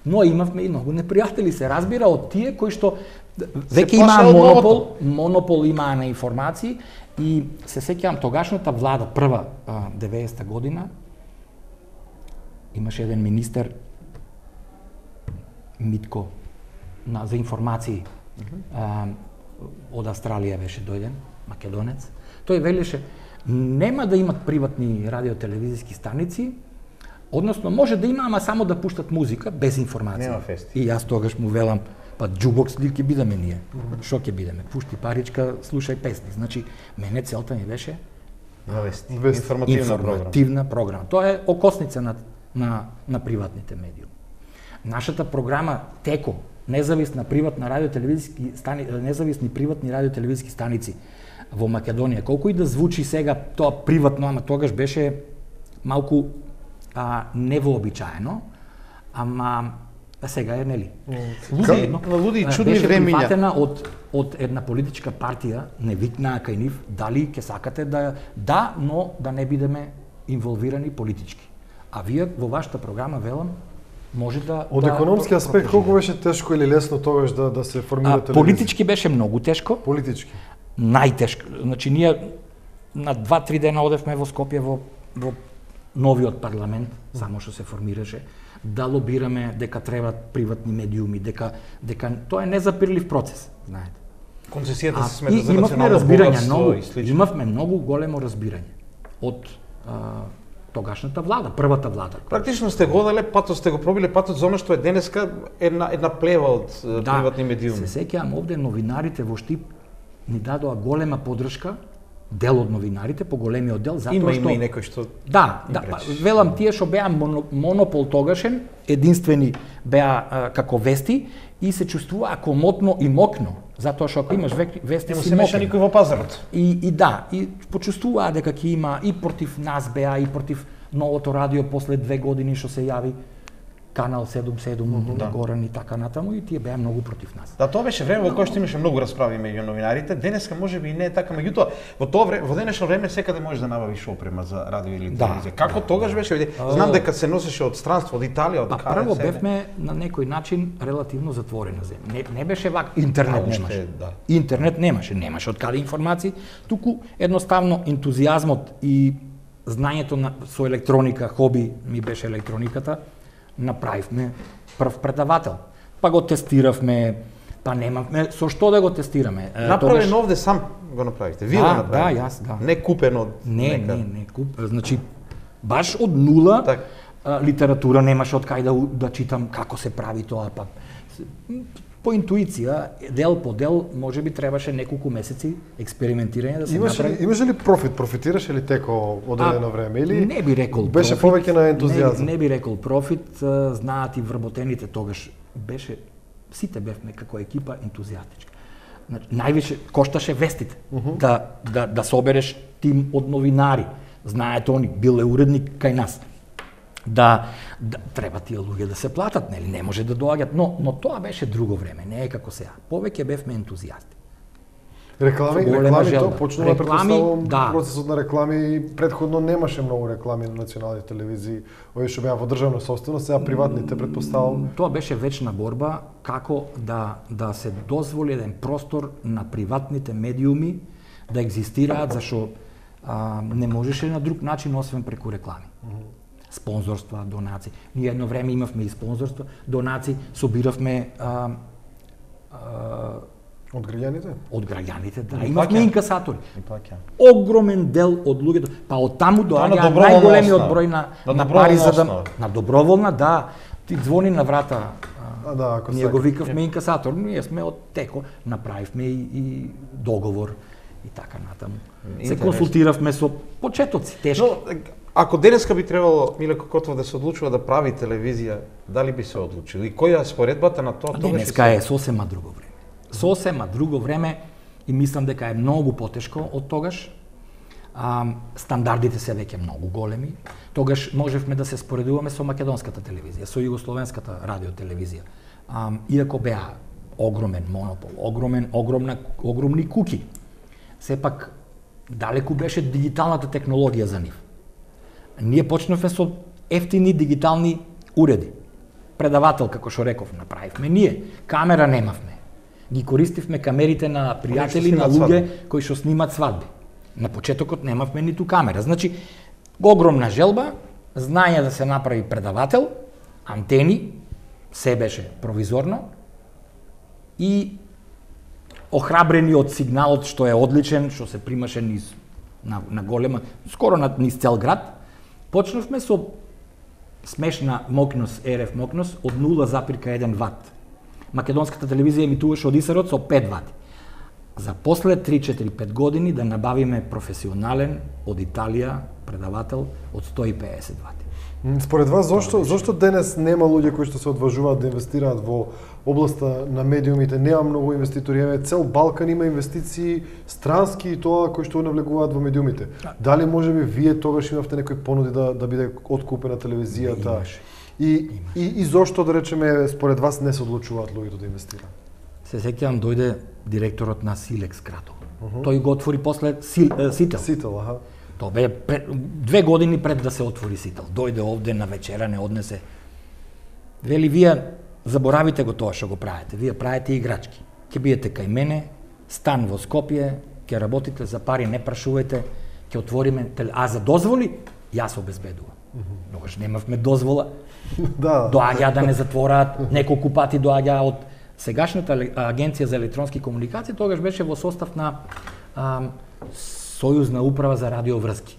Но имавме и многу непријатели, се разбира, од тие кои што веќе имаа плаше од монопол имаа на информации и се сеќавам тогашната влада, прва 90-та година, имаше еден министер Митко за информации. Од Австралија беше дојден, македонец. Тој велеше нема да имат приватни радиотелевизиски станици, односно може да има, ама само да пуштат музика без информација. Нема фести. И јас тогаш му велам, па джубокс ли ќе бидеме ние? Шо ќе бидеме? Пушти паричка, слушај песни. Значи, мене целта ми беше Вести. Вести. информативна програма. Тоа е окосница на приватните медиуми. Нашата програма теко независни приватни радиотелевизиски станици во Македонија. Колку и да звучи сега тоа приватно, ама тогаш беше малку невообичаено, ама сега е, нели? Луди и чудни беше времиња. прифатена од една политичка партија, не викнаа кај нив, дали ќе сакате да, но да не бидеме инволвирани политички. А вие во вашата програма, велам, може да... Од економски аспект, колку беше тешко или лесно тогаш да се формира телевизија? Политички беше многу тешко. Политички. Најтешко. Значи, ние на 2-3 дена одевме во Скопје во новиот парламент, само што се формираше, да лобираме дека требаат приватни медиуми, дека тоа е незапирлив процес, знаете. Концесијата се смета за имавме национално разбирање, богатство и слично. имавме многу големо разбирање од тогашната влада, првата влада. Практично сте го дале патот, сте го пробиле патот за она што е денеска една плева од приватни медиуми. Се сеќавам овде новинарите во Штип ни дадоа голема поддршка, дел од новинарите, по големиот дел, затоа што... Има и некој што... Да, велам, тие што беа монопол тогашен, единствени беа како вести и се чувствуваа комотно и мокно, затоа што ако имаш вести си се меша мокен. никој во пазарот. И почувствуваа дека ќе има и против нас беа, и против новото радио после 2 години што се јави Канал 77 на Горан и така натаму, и тие беа многу против нас. Да, тоа беше време во кое што имаше многу расправи меѓу новинарите. Денеска можеби и не е така, меѓутоа во тоа време, во денешно време секаде можеш да набавиш опрема за радио или телевизија. Како тогаш беше? Знам дека се носеше од странство, од Италија, од Каре. Прво бевме на некој начин релативно затворена земја. Не беше вак, интернет немаше. Интернет немаше од каде информации, туку едноставно ентузијазмот и знаењето со електроника, хоби ми беше електрониката, направивме прв предавател. Па го тестиравме, па немавме со што да го тестираме. Направено овде сам го направите. Вие го направите. Да, јас, да. Не купено од Не куп, значи баш од нула литература немаше од кај да читам како се прави тоа, па по интуиција, дел по дел, можеби требаше неколку месеци експериментирање да се направи. Имаше ли профитираше ли теко одредено време или не би рекол беше повеќе на ентузијазам? Не би рекол профит, знаат и вработените тогаш беше, сите бевме како екипа ентузијастички. Значи, највише кошташе вестите, да собереш тим од новинари, знаете они, бил е уредник кај нас. Да треба тие луѓе да се платат, нели, не може да доаѓат, но тоа беше друго време, не е како сега. Повеќе бевме ентузијасти. Реклами тоа почнува претпоставувам да. Процесот на реклами, предходно немаше многу реклами на националните телевизии, овие што беа во државна собственост, сега приватните претпоставувам. Тоа беше вечна борба како да се дозволи еден простор на приватните медиуми да екзистираат, зашто не можеше на друг начин освен преку реклами. Спонзорства, донации. Ние едно време имавме и спонзорства, донации, собиравме од граѓаните? Од граѓаните, да. Имавме инкасатори. Огромен дел од луѓето, па од таму доаѓа најголемиот број на пари за да на доброволна, да. Ти звони на врата. Ние го викавме инкасатор, ние сме од теко, направивме и договор и така натаму. Се консултиравме со почетоци, тешки. Ако денеска би требало Миле Кокотов да се одлучува да прави телевизија, дали би се одлучил? И која е споредбата на тоа? Денеска е сосема друго време. Сосема друго време, и мислам дека е многу потешко од тогаш. Стандардите се веќе многу големи. Тогаш можевме да се споредуваме со македонската телевизија, со југословенската радиотелевизија. Иако беа огромен монопол, огромни куки. Сепак далеку беше дигиталната технологија за нив. Ние почнавме со ефтини дигитални уреди. Предавател, како што реков, направивме ние. Камера немавме. Ги користивме камерите на пријатели, на луѓе кои што снимат свадби. На почетокот немавме ниту камера. Значи, огромна желба, знање да се направи предавател, антени, се беше провизорно и охрабрени од сигналот што е одличен, што се примаше на голема, скоро низ цел град, почнавме со смешна мокност, РФ мокност од 0,1 ват. Македонската телевизија емитуваше од Исарот со 5 вати. За после 3-4-5 години да набавиме професионален од Италија предавател од 150 вати. Според вас, зошто денес нема луѓе кои што се одважуваат да инвестираат во областа на медиумите? Нема многу инвеститори, цел Балкан има инвестиции странски и тоа кои што навлегуваат во медиумите. Дали можеби вие тогаш имавте некои понуди да биде откупена телевизијата? И зошто, да речеме, според вас не се одлучуваат луѓето да инвестираат? Се сеќавам, дојде директорот на Силекс Кратово. Тој го отвори после Сител. Сител, аха. Тоа бе 2 години пред да се отвори Сител. Дојде овде на вечера, не однесе. Вели, вие заборавите го тоа што го правите. Вие правите играчки. Ќе биете кај мене, стан во Скопје, ќе работите за пари, не прашувајте, ќе отвориме, а за дозволи, јас обезбедувам. Тогаш немавме дозвола. Доаѓа да не затвораат, неколку пати доаѓа од сегашната агенција за електронски комуникации, тогаш беше во состав на Сојузна управа за радиоврски.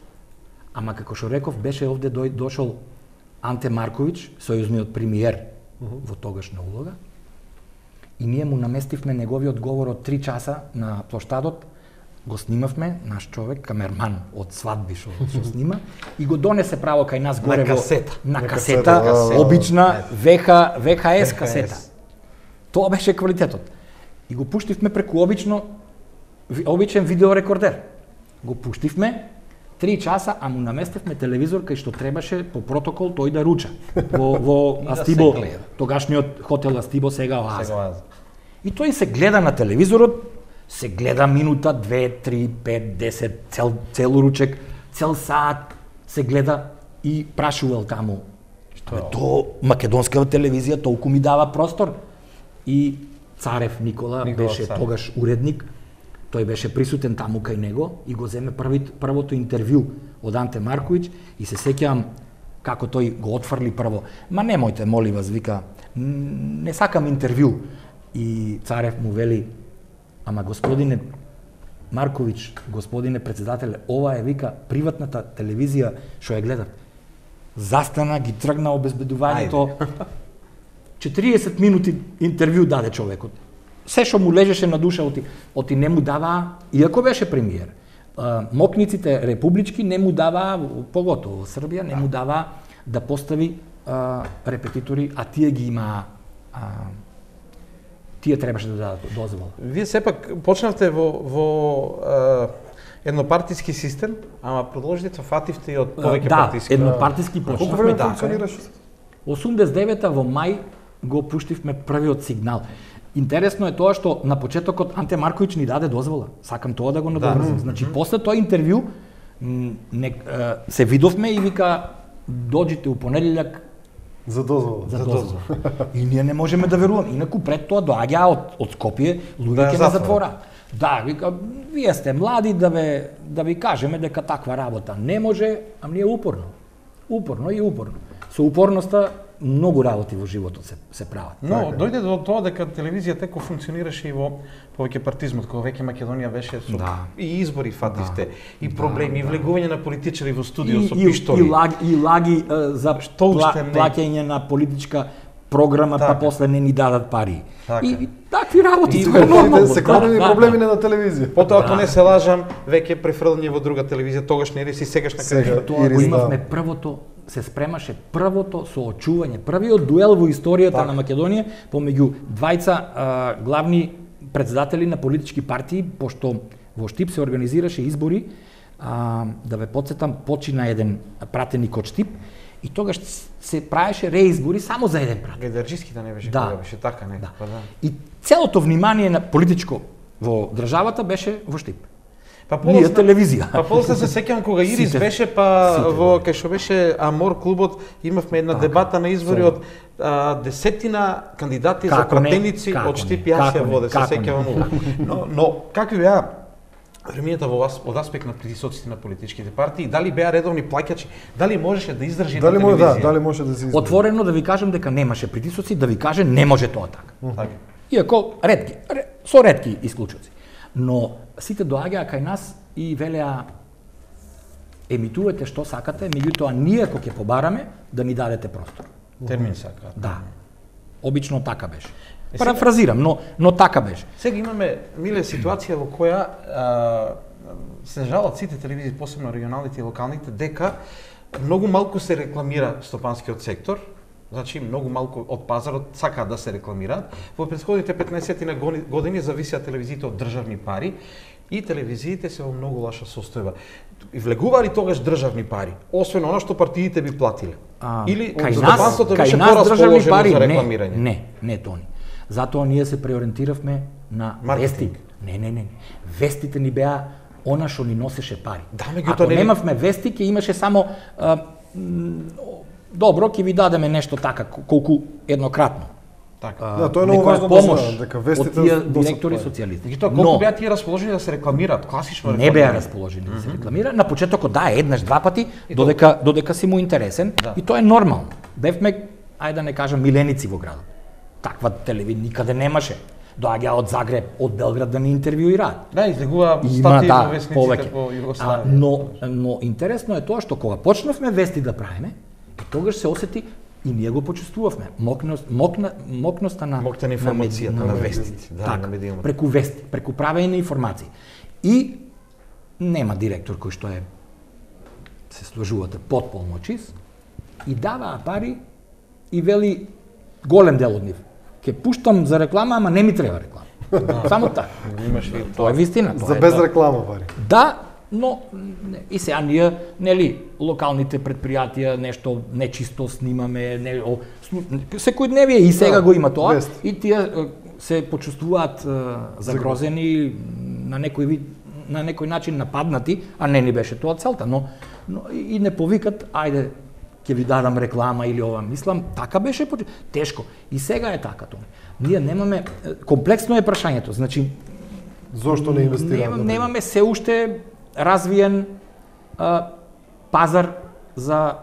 Ама како што реков, беше овде дошол Анте Марковиќ, сојузниот премиер во тогашна улога, и ние му наместивме неговиот говор од 3 часа на плоштадот, го снимавме, наш човек, камерман од свадби што снима, и го донесе право кај нас горе на касета, обична ВХС касета. Тоа беше квалитетот. И го пуштивме преку обичен видеорекордер. Го пуштивме 3 часа, а му наместивме телевизор кај што требаше по протокол тој да руча. Во Астибо, тогашниот хотел Астибо, сега Оаза. И тој се гледа на телевизорот, се гледа минута, 2, 3, 5, 10, цел ручек, цел саат, се гледа и прашувал таму. То македонска телевизија толку ми дава простор. И Царев Никола беше тогаш уредник, тој беше присутен таму кај него и го земе првото интервју од Анте Марковиќ и се сеќавам како тој го отфрли прво. Ма немојте, моли вас, вика, не сакам интервју. И Царев му вели, ама господине Марковиќ, господине председателе, ова е, вика, приватната телевизија што ја гледат. Застана, ги тргна обезбедувањето. 40 минути интервју даде човекот. Се што му лежеше на душа, оти не му дава, иако беше премиер. Мокниците републички не му дава, поготово во Србија, не му дава да постави репетитори, а тие ги има, тие требаше да дадат дозвола. Вие сепак почнавте во еднопартиски систем, ама продолжите фативте и од повеќе партиски. Да, еднопартиски почнавме. Колку време функционираше? 89-та во мај го пуштивме првиот сигнал. Интересно е тоа што на почетокот Анте Марковиќ ни даде дозвола. Сакам тоа да го надоврзам. Значи, после тоа интервју се видовме и вика, доđите у понеделјак за дозвола. И ние не можеме да веруваме. Инаку пред тоа доаѓа од Скопје, луѓе ќе ме затвора. Да, вика, вие сте млади да ви кажеме дека таква работа не може, а ние упорно. Упорно. Со упорноста многу работи во животот се прават. Но дојде до тоа дека телевизијата како функционираше и во повеќе партизмот, кога веќе Македонија беше со и избори фативте, и проблеми, и влегување на политичари во студио со пиштоли. И лаги за плаќање на политичка програма, па после не ни дадат пари. И такви работи се големи проблеми на телевизија. Потоа, ако не се лажам, веќе префрлање во друга телевизија, тогаш не си сегашна кај тоа го имавме првото, се спремаше првото соочување, првиот дуел во историјата на Македонија помеѓу двајца главни председатели на политички партии, пошто во Штип се организираше избори, да ве подсетам, почина еден пратеник од Штип, и тогаш се правеше реизбори само за еден пратеник. Гедарџиските не беше, кога беше така некако, да. И целото внимание на политичко во државата беше во Штип. Ние телевизија. Па после се сеќавам кога Ирис беше, во кај што беше Амор клубот, имавме една дебата на избори од десетина кандидати за пратеници од Штип, јас ја воде, се сеќавам. Но како беа времињата од аспект на притисоците на политичките партии, дали беа редовни плаќачи, дали можеше да издржи на телевизија? Дали може да се издржи? Отворено да ви кажам дека немаше притисоци, да ви каже не може тоа така. Иако со ретки исклучоци. Но сите доаѓаа кај нас и велеа емитувате што сакате, меѓутоа ние ако ќе побараме да ни дадете простор. Термин сакаат. Да. Обично така беше. Парафразирам, но така беше. Сега имаме, Миле, ситуација во која се жалат сите телевизии, посебно регионалните и локалните, дека многу малку се рекламира стопанскиот сектор, значи многу малку од пазарот сакаат да се рекламираат. Во претходните 15 години зависеа телевизиите од државни пари и телевизиите се во многу лоша состојба. И влегува ли тогаш државни пари, освен она што партиите би платиле? Или стопанството беше порасположено за рекламирање? Не, Тони. Затоа ние се преориентиравме на вести. Не. Вестите ни беа она што ни носеше пари. Ако немавме вести, ќе имаше само добро, ќе ви дадеме нешто така, колку еднократно. Да, тоа е многу важно да знаат, дека вестите од директори социјалисти. И тоа колку беа тие расположени да се рекламираат, класично рекламираат? Не беа расположени да се рекламира. На почетокот еднаш, два пати, додека си му интересен, и тоа е нормално. Бевме, ајде да не кажам, миленици во градот. Таква телевизија никаде немаше. Доаѓа од Загреб, од Белград да ни интервјуираат. Да, излегува статии во вестниците по Југославија. Но интересно е тоа што кога почнавме вести да правиме, тогаш се осети и ние го почувствувавме мокноста на информацијата на вестите, на медиумот. Преку вести, преку правење на информации. И нема директор кој што се сложувате потполно чист и даваа пари и вели голем дел од нив. Ке пуштам за реклама, ама не ми треба реклама. Само така. Тоа е вистина. За без реклама пари. Да, но и сега ние, нели, локалните предпријатија нешто нечисто снимаме, секојдневие и сега го има тоа, и тие се почувствуваат загрозени, на некој начин нападнати, а не ни беше тоа целта, но и не повикат, ајде, ќе ви дадам реклама или ова. Мислам, така беше тешко. И сега е така тоа. Ние немаме, комплексно е прашањето, значи зошто не инвестираме? Немаме се уште развиен пазар за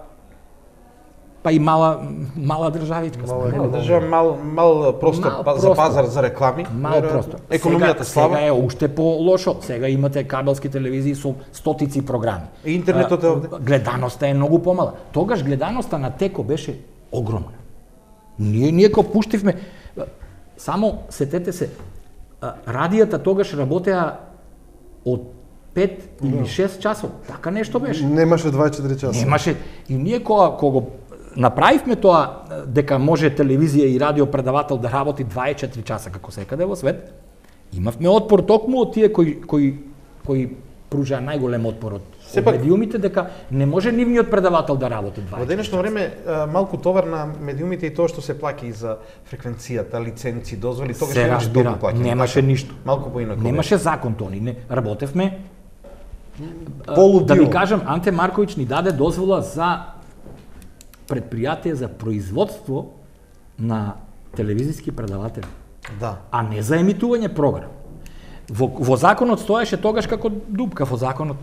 па и мала државичка. Мал простор за пазар за реклами. Мал простор. Економијата слаба. Сега е уште по-лошо. Сега имате кабелски телевизии со стотици програми. Интернетот е овде. Гледаноста е многу помала. Тогаш гледаноста на Теко беше огромна. Ние кога пуштивме, само сетете се, радијата тогаш работеа од 5 или 6 часов. Така нешто беше. Немаше 24 часа. Немаше. И ние кога го направивме тоа дека може телевизија и радио предавател да работи 24 часа како секаде во свет, имавме отпор токму од тие кои пружаа најголем отпор од медиумите, дека не може нивниот предавател да работи 24 часа. Во денешно време малку товар на медиумите и тоа што се плаќа и за фреквенцијата, лиценци, дозволи, тогаш немаше толку плаќање. Немаше ништо. Малку поинаку. Немаше закон тони, не работевме. Полудио. Да ви кажам, Анте Марковиќ ни даде дозвола за предпријатие за производство на телевизиски предаватели. Да. А не за емитување програм. Во законот стоеше тогаш како дупка во законот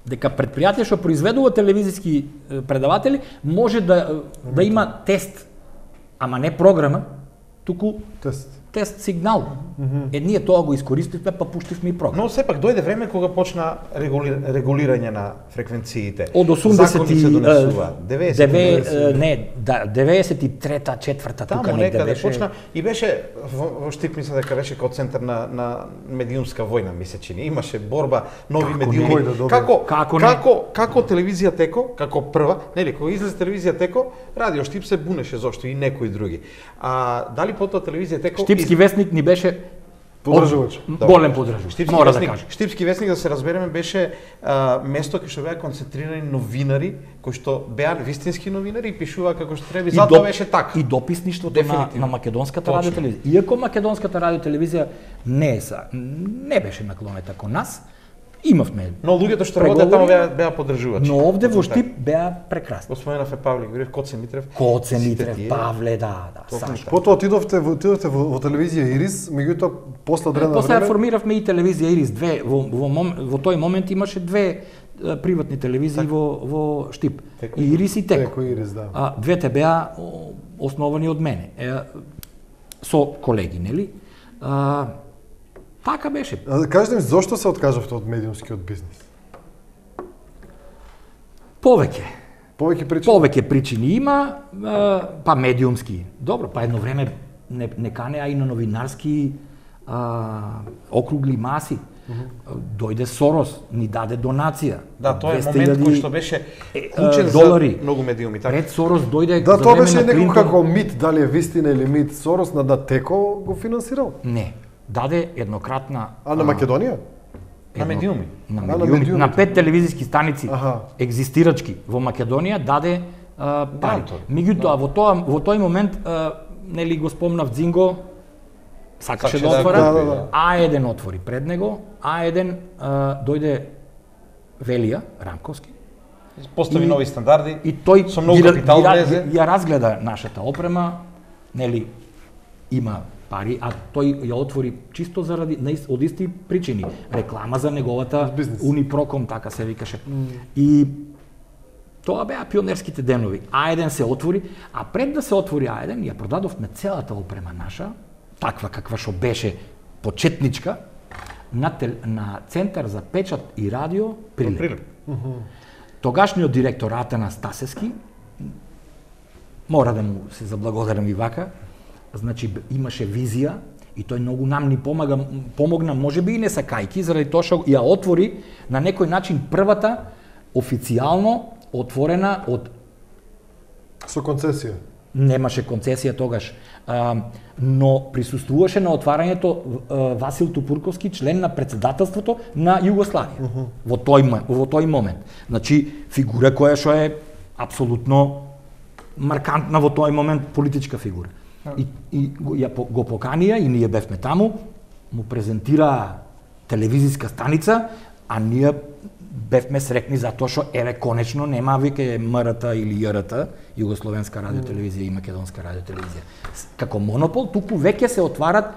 дека предпријатие што произведува телевизиски предаватели може да има тест, ама не програма, туку тест сигнал. Ние тоа го искористивме, па пуштивме и програма. Но сепак дојде време кога почна регулирање на фреквенциите. Од 93-та, 4-та тука некаде беше. Почна и беше во Штип, мисля дека беше како центар на медиумска војна, ми се чини. Имаше борба, нови медиуми. Како телевизија Теко, како прва, нели, кога излезе телевизија Теко, Радио Штип се бунеше зошто и некои други. А дали потоа телевизија Теко Штипски вестник ни беше Подржувач. Голем подржувач. Мора да кажам. Штипски весник, да се разбереме, беше место кај што беа концентрирани новинари, кои што беа вистински новинари и пишуваа како што треба, и затоа беше така. И дописништвото на македонската радиотелевизија. Иако македонската радиотелевизија не беше наклонета кон нас, имавме. Но луѓето што работеа таму беа подржувачи. Но овде во Штип беа прекрасни. Го споменав Павле Грев, Коце Митрев. Коце Митрев, Павле, да. Потоа отидовте во телевизија Ирис, меѓутоа после одредено време. После формиравме и телевизија Ирис, во тој момент имаше две приватни телевизии во Штип. И Ирис и Теко. Ирис, да. Двете беа основани од мене. Со колеги, нели? Така беше. Кажете ми, зошто се откажавте од медиумскиот бизнес? Повеќе причини? Повеќе причини има, па медиумски. Добро, па едно време не канеа и на новинарски округли маси. Дојде Сорос, ни даде донација. Да, тоа е момент кој што беше клучен долари. За многу медиуми. Така. Пред Сорос дојде да, за тоа време беше на некој Клинтон. како мит, дали е вистина или мит. Сорос на Теко го финансирал? Не. Даде еднократна... А на Македонија? На медиуми. на медиуми. На 5 телевизиски станици екзистирачки во Македонија даде пари. Меѓутоа во тој момент нели го спомнав Дзинго, сакаше да отвора, А1 отвори пред него, А1 дојде Велија Рамковски. Постави нови стандарди. И тој со многу капитал влезе. Ја разгледа нашата опрема, нели има пари, а тој ја отвори чисто заради од исти причини. Реклама за неговата Унипроком, така се викаше. И тоа беа пионерските денови. А1 се отвори, а пред да се отвори А1, ја продадовме целата опрема наша, таква каква што беше почетничка, на Центар за печат и радио Прилеп. Тогашниот директор Атанас Стасевски, мора да му се заблагодарам и вака, значи имаше визија и тој многу нам ни помогна, можеби и не сакајки, заради тоа што ја отвори на некој начин првата официјално отворена од... Со концесија? Немаше концесија тогаш, но присуствуваше на отварањето Васил Тупурковски, член на председателството на Југославија, во тој момент. Значи, фигура која што е апсолутно маркантна во тој момент политичка фигура. И го поканија и ние бевме таму, му презентира телевизиска станица, а ние бевме срекни затоа што еве конечно нема веќе МРТ или ЈРТ, Југословенска радиотелевизија и Македонска радиотелевизија. Како монопол, туку веќе се отварат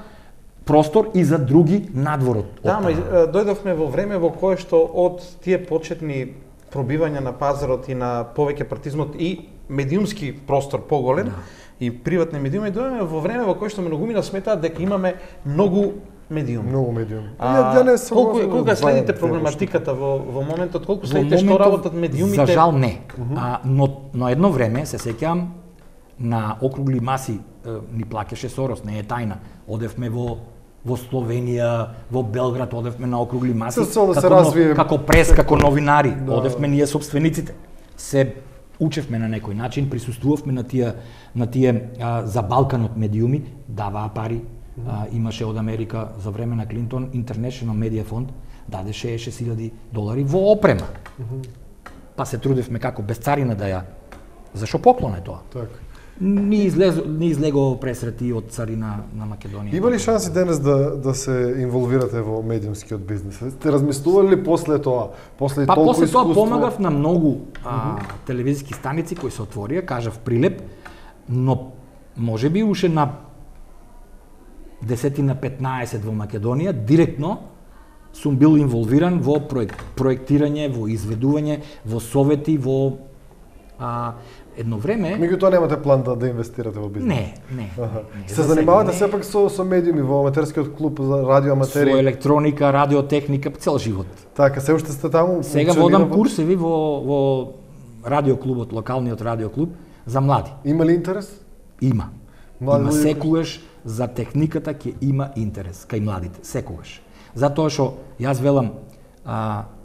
простор и за други надвор од Да, ама дојдовме во време во кое што од тие почетни пробивања на пазарот и на повеќе партизмот и медиумски простор поголем, и приватни медиуми, дојдеме во време во кое што многумина сметаат дека имаме многу медиуми. Многу медиуми. Колку следите проблематиката во моментот, колку следите што работат медиумите? За жал не. Но едно време, се сеќавам, на округли маси ни плакеше Сорос, не е тајна. Одевме во Словенија, во Белград, одевме на округли маси, како прес, како новинари, одевме ние собствениците. Се учевме на некој начин, присуствувавме на тие за Балканот медиуми, даваа пари. Имаше од Америка за време на Клинтон International Media Fund, даде $60,000 во опрема. Па се трудевме како без царина да ја... Зашо поклон е тоа? Така. Ни излего пресрети од царина на Македонија. Има ли шанси денес да се инволвирате во медиумскиот бизнес? Сте размислували ли после тоа? После тоа помагав на многу телевизиски станици кои се отворија, кажав Прилеп, но можеби уште на 10 на 15 во Македонија, директно сум бил инволвиран во проектирање, во изведување, во совети, во едно време... Меѓутоа немате план да инвестирате во бизнес? Не. Се занимавате сепак со медиуми во аматерскиот клуб за радиоаматери? Со електроника, радиотехника, цел живот. Така, се уште сте таму? Сега водам курсеви во радиоклубот, локалниот радиоклуб за млади. Има ли интерес? Има. Има секогаш за техниката ќе има интерес кај младите, секогаш. Затоа што јас велам,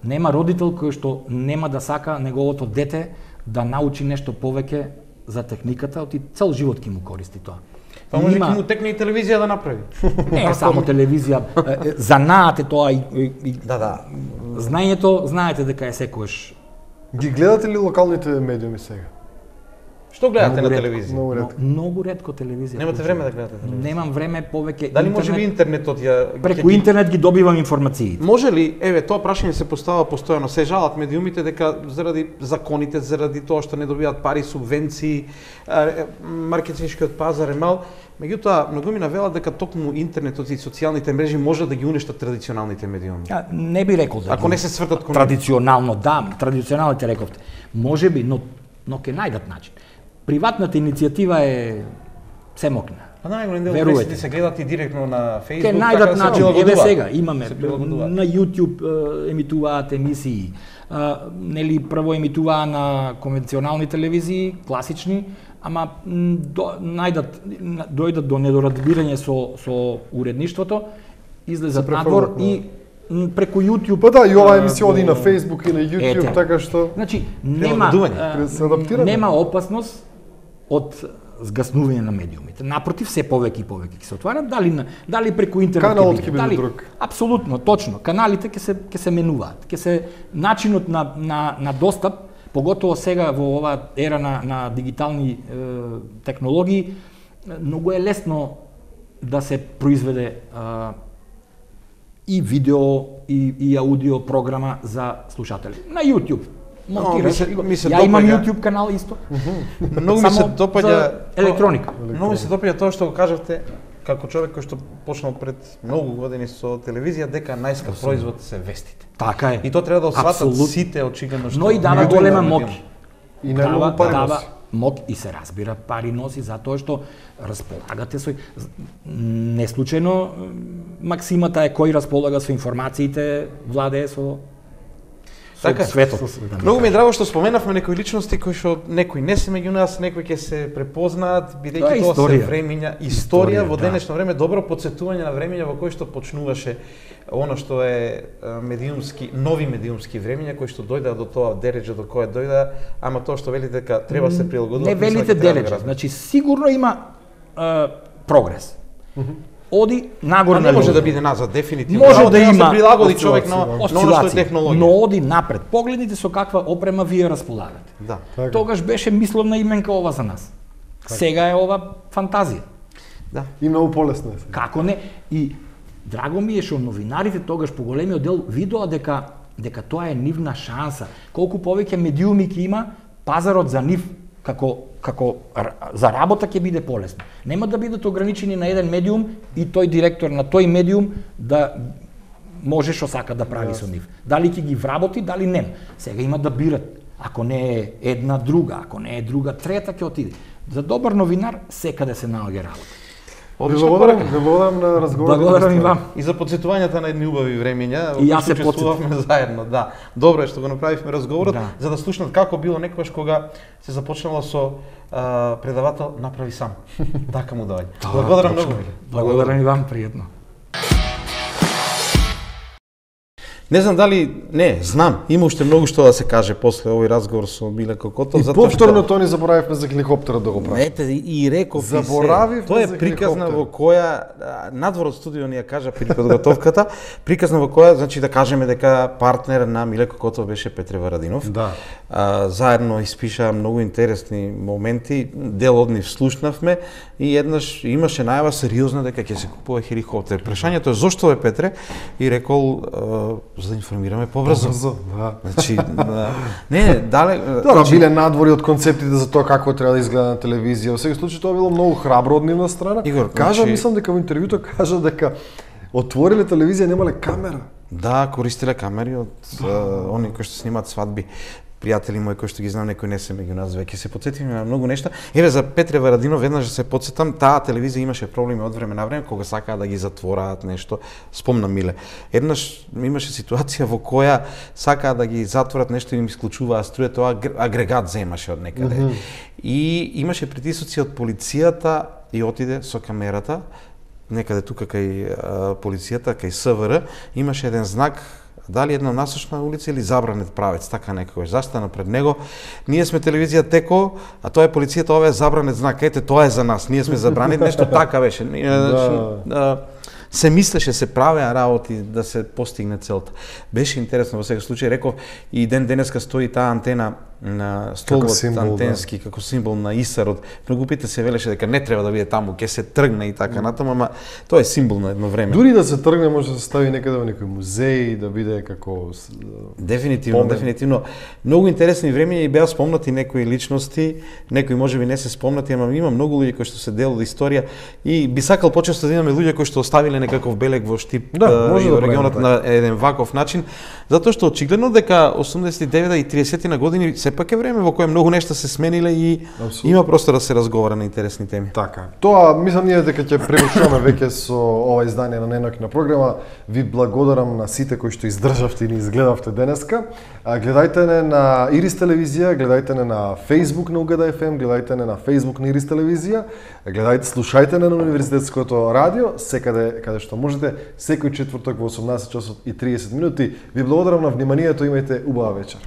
нема родител кој што нема да сака неговото дете да научи нешто повеќе за техниката, оти цел живот ќе му користи тоа. Па може ќе му текне и телевизија да направи. Не само телевизија, занаат е тоа и Да. знаењето, знаете дека е секојаш. Ги гледате ли локалните медиуми сега? Што гледате на телевизија? Многу ретко телевизија. Немате време да гледате телевизија? Немам време, повеќе Дали може би интернетот ја преку интернет ги добивам информации. Може ли, тоа прашање се поставува постојано, се жалат медиумите дека заради законите, заради тоа што не добиваат пари, субвенции, маркетиншкиот пазар е мал, меѓутоа многу ми навелат дека токму интернетот и социјалните мрежи може да ги уништат традиционалните медиуми. Не би рекол дека ако не се свртат кон традиционално, да, традиционалните рековте. Можеби, но ќе најдат начин. Приватната иницијатива е семокна. А најголем дел вестите се гледат и директно на Facebook. Ке најдат начин. Еве сега имаме на YouTube емитуваат емисии. Нели прво емитуваа на конвенционални телевизии, класични, ама дојдат до недоразбирање со уредништвото, излезат надвор и преку YouTube. Па да, и оваа емисија оди на Facebook и на YouTube, така што значи нема опасност од згаснување на медиумите. Напротив, се повеќе и повеќе ќе се отварат, дали преку интернет каналот ќе биде друг. Апсолутно, точно. Каналите ќе се менуваат. Ќе се начинот на достап, поготово сега во оваа ера на дигитални технологии, многу е лесно да се произведе и видео и аудио програма за слушатели. На YouTube. Ја имам YouTube канал исто. Многу ми се допаѓа електроника. Многу ми се допаѓа тоа што го кажавте како човек кој што почнал пред многу години со телевизија дека најскап производ се вестите. Така е. И тоа треба да осватат сите очигледно што. Но и дава голема моќ. И најмногу пари дава моќ и се разбира пари носи затоа што располагате со не случајно максимата е кој располага со информациите владее со така светот. Многу ми е драго што споменавме некои личности кои што некои не се меѓу нас, некои ќе се препознаат бидејќи тоа се времиња, историја во денешно време, добро потсетување на времиња во кои што почнуваше она што е медиумски, нови медиумски времиња кои што дојдаа до тоа дереџа до кое дојдаа, ама тоа што велите дека треба се прилагодува. Не велите дереџа, значи сигурно има прогрес. Оди нагоре на не може да биде назад дефинитивно. Може да има се прилагоди човек на она што е технологија. Но оди напред. Погледнете со каква опрема вие располагате. Да. Тогаш беше мисловна именка ова за нас. Сега е ова фантазија. Да. И многу полесно е. Како не? И драго ми е што новинарите тогаш по големиот дел видоа дека тоа е нивна шанса. Колку повеќе медиуми ќе има, пазарот за нив како за работа ќе биде полесно. Нема да бидат ограничени на еден медиум и тој директор на тој медиум да може што сака да прави со нив. Дали ќе ги вработи, дали не. Сега има да бират. Ако не е една друга, ако не е друга трета ќе отиде. За добар новинар секаде се наоѓа работа. Благодарам на разговорот. Благодарам и вам. И за подсетувањата на едни убави времиња, и јас се почувствувавме заедно, да. Добро е што го направивме разговорот, за да слушнат како било некогаш кога се започнало со предавател направи сам. Така му доаѓа. Благодарам многу. Благодарам и вам, пријатно. Не знам дали, знам, има уште многу што да се каже после овој разговор со Миле Кокотов, и повторно тоа ни заборавивме за хеликоптерот да го правиме. Ете, и реков заборавивме тоа е приказна во која надвор од студио ни ја кажа при подготовката, приказна во која, значи да кажеме дека партнер на Миле Кокотов беше Петре Варадинов. Да. Заедно испишаа многу интересни моменти, дел од нив слушнавме и еднаш имаше најава сериозна дека ќе се купува хеликоптер. Прашањето е зошто е Петре и рекол за да информираме побрзо. Да. Значи, не, дале... Тоа биле надвори од концептите за тоа како треба да изгледа на телевизија. Во секој случај тоа било многу храбро од нивна страна. Игор, кажа, мислам дека во интервјуто кажа дека отвориле телевизија, немале камера. Да, користиле камери од они кои што снимаат свадби. Пријатели мои кои што ги знам, некои не се меѓу нас веќе. Се потсетивме на многу нешта. Еве за Петре Варадинов веднаш се потсетам, таа телевизија имаше проблеми од време на време кога сакаа да ги затвораат нешто. Спомнам Миле. Еднаш имаше ситуација во која сакаа да ги затворат нешто и им исклучуваа струја, тоа агрегат земаше од некаде. И имаше притисоци од полицијата и отиде со камерата некаде тука кај полицијата, кај СВР, имаше еден знак дали една насочна улица или забранет правец, така некогаш застана пред него. Ние сме телевизија Теко, а тоа е полицијата, ова е забранет знак. Ете, тоа е за нас. Ние сме забранет, нешто така беше. Се мислеше, се правеа работи да се постигне целта. Беше интересно во секој случај, реков, и ден денеска стои таа антена на столбот антенски како символ на Исарот. Многу пите се велеше дека не треба да биде таму, ќе се тргне и така натаму, ама тоа е символ на едно време. Дури да се тргне може да се стави некаде во некој музеј, да биде како Дефинитивно, дефинитивно. Многу интересни времења и беа спомнати некои личности, некои можеби не се спомнати, ама има многу луѓе кои што се дел од историја и би сакал почесто да имаме луѓе кои што оставиле некаков белег во Штип и во регионот на еден ваков начин, затоа што очигледно дека 89 и 30 на години сепак е време во кое многу нешта се смениле и има простор да се разговара на интересни теми. Така. Тоа мислам ние дека ќе превршуваме веќе со ова издание на Неноќна програма. Ви благодарам на сите кои што издржавте и ни изгледавте денеска. Гледајте не на Ирис телевизија, гледајте не на Facebook на Угада FM, гледајте не на Facebook на Ирис телевизија, гледајте, слушајте не на Универзитетското радио, секаде каде што можете, секој четврток во 18 часот и 30 минути. Ви благодарам на вниманието, имајте убава вечер.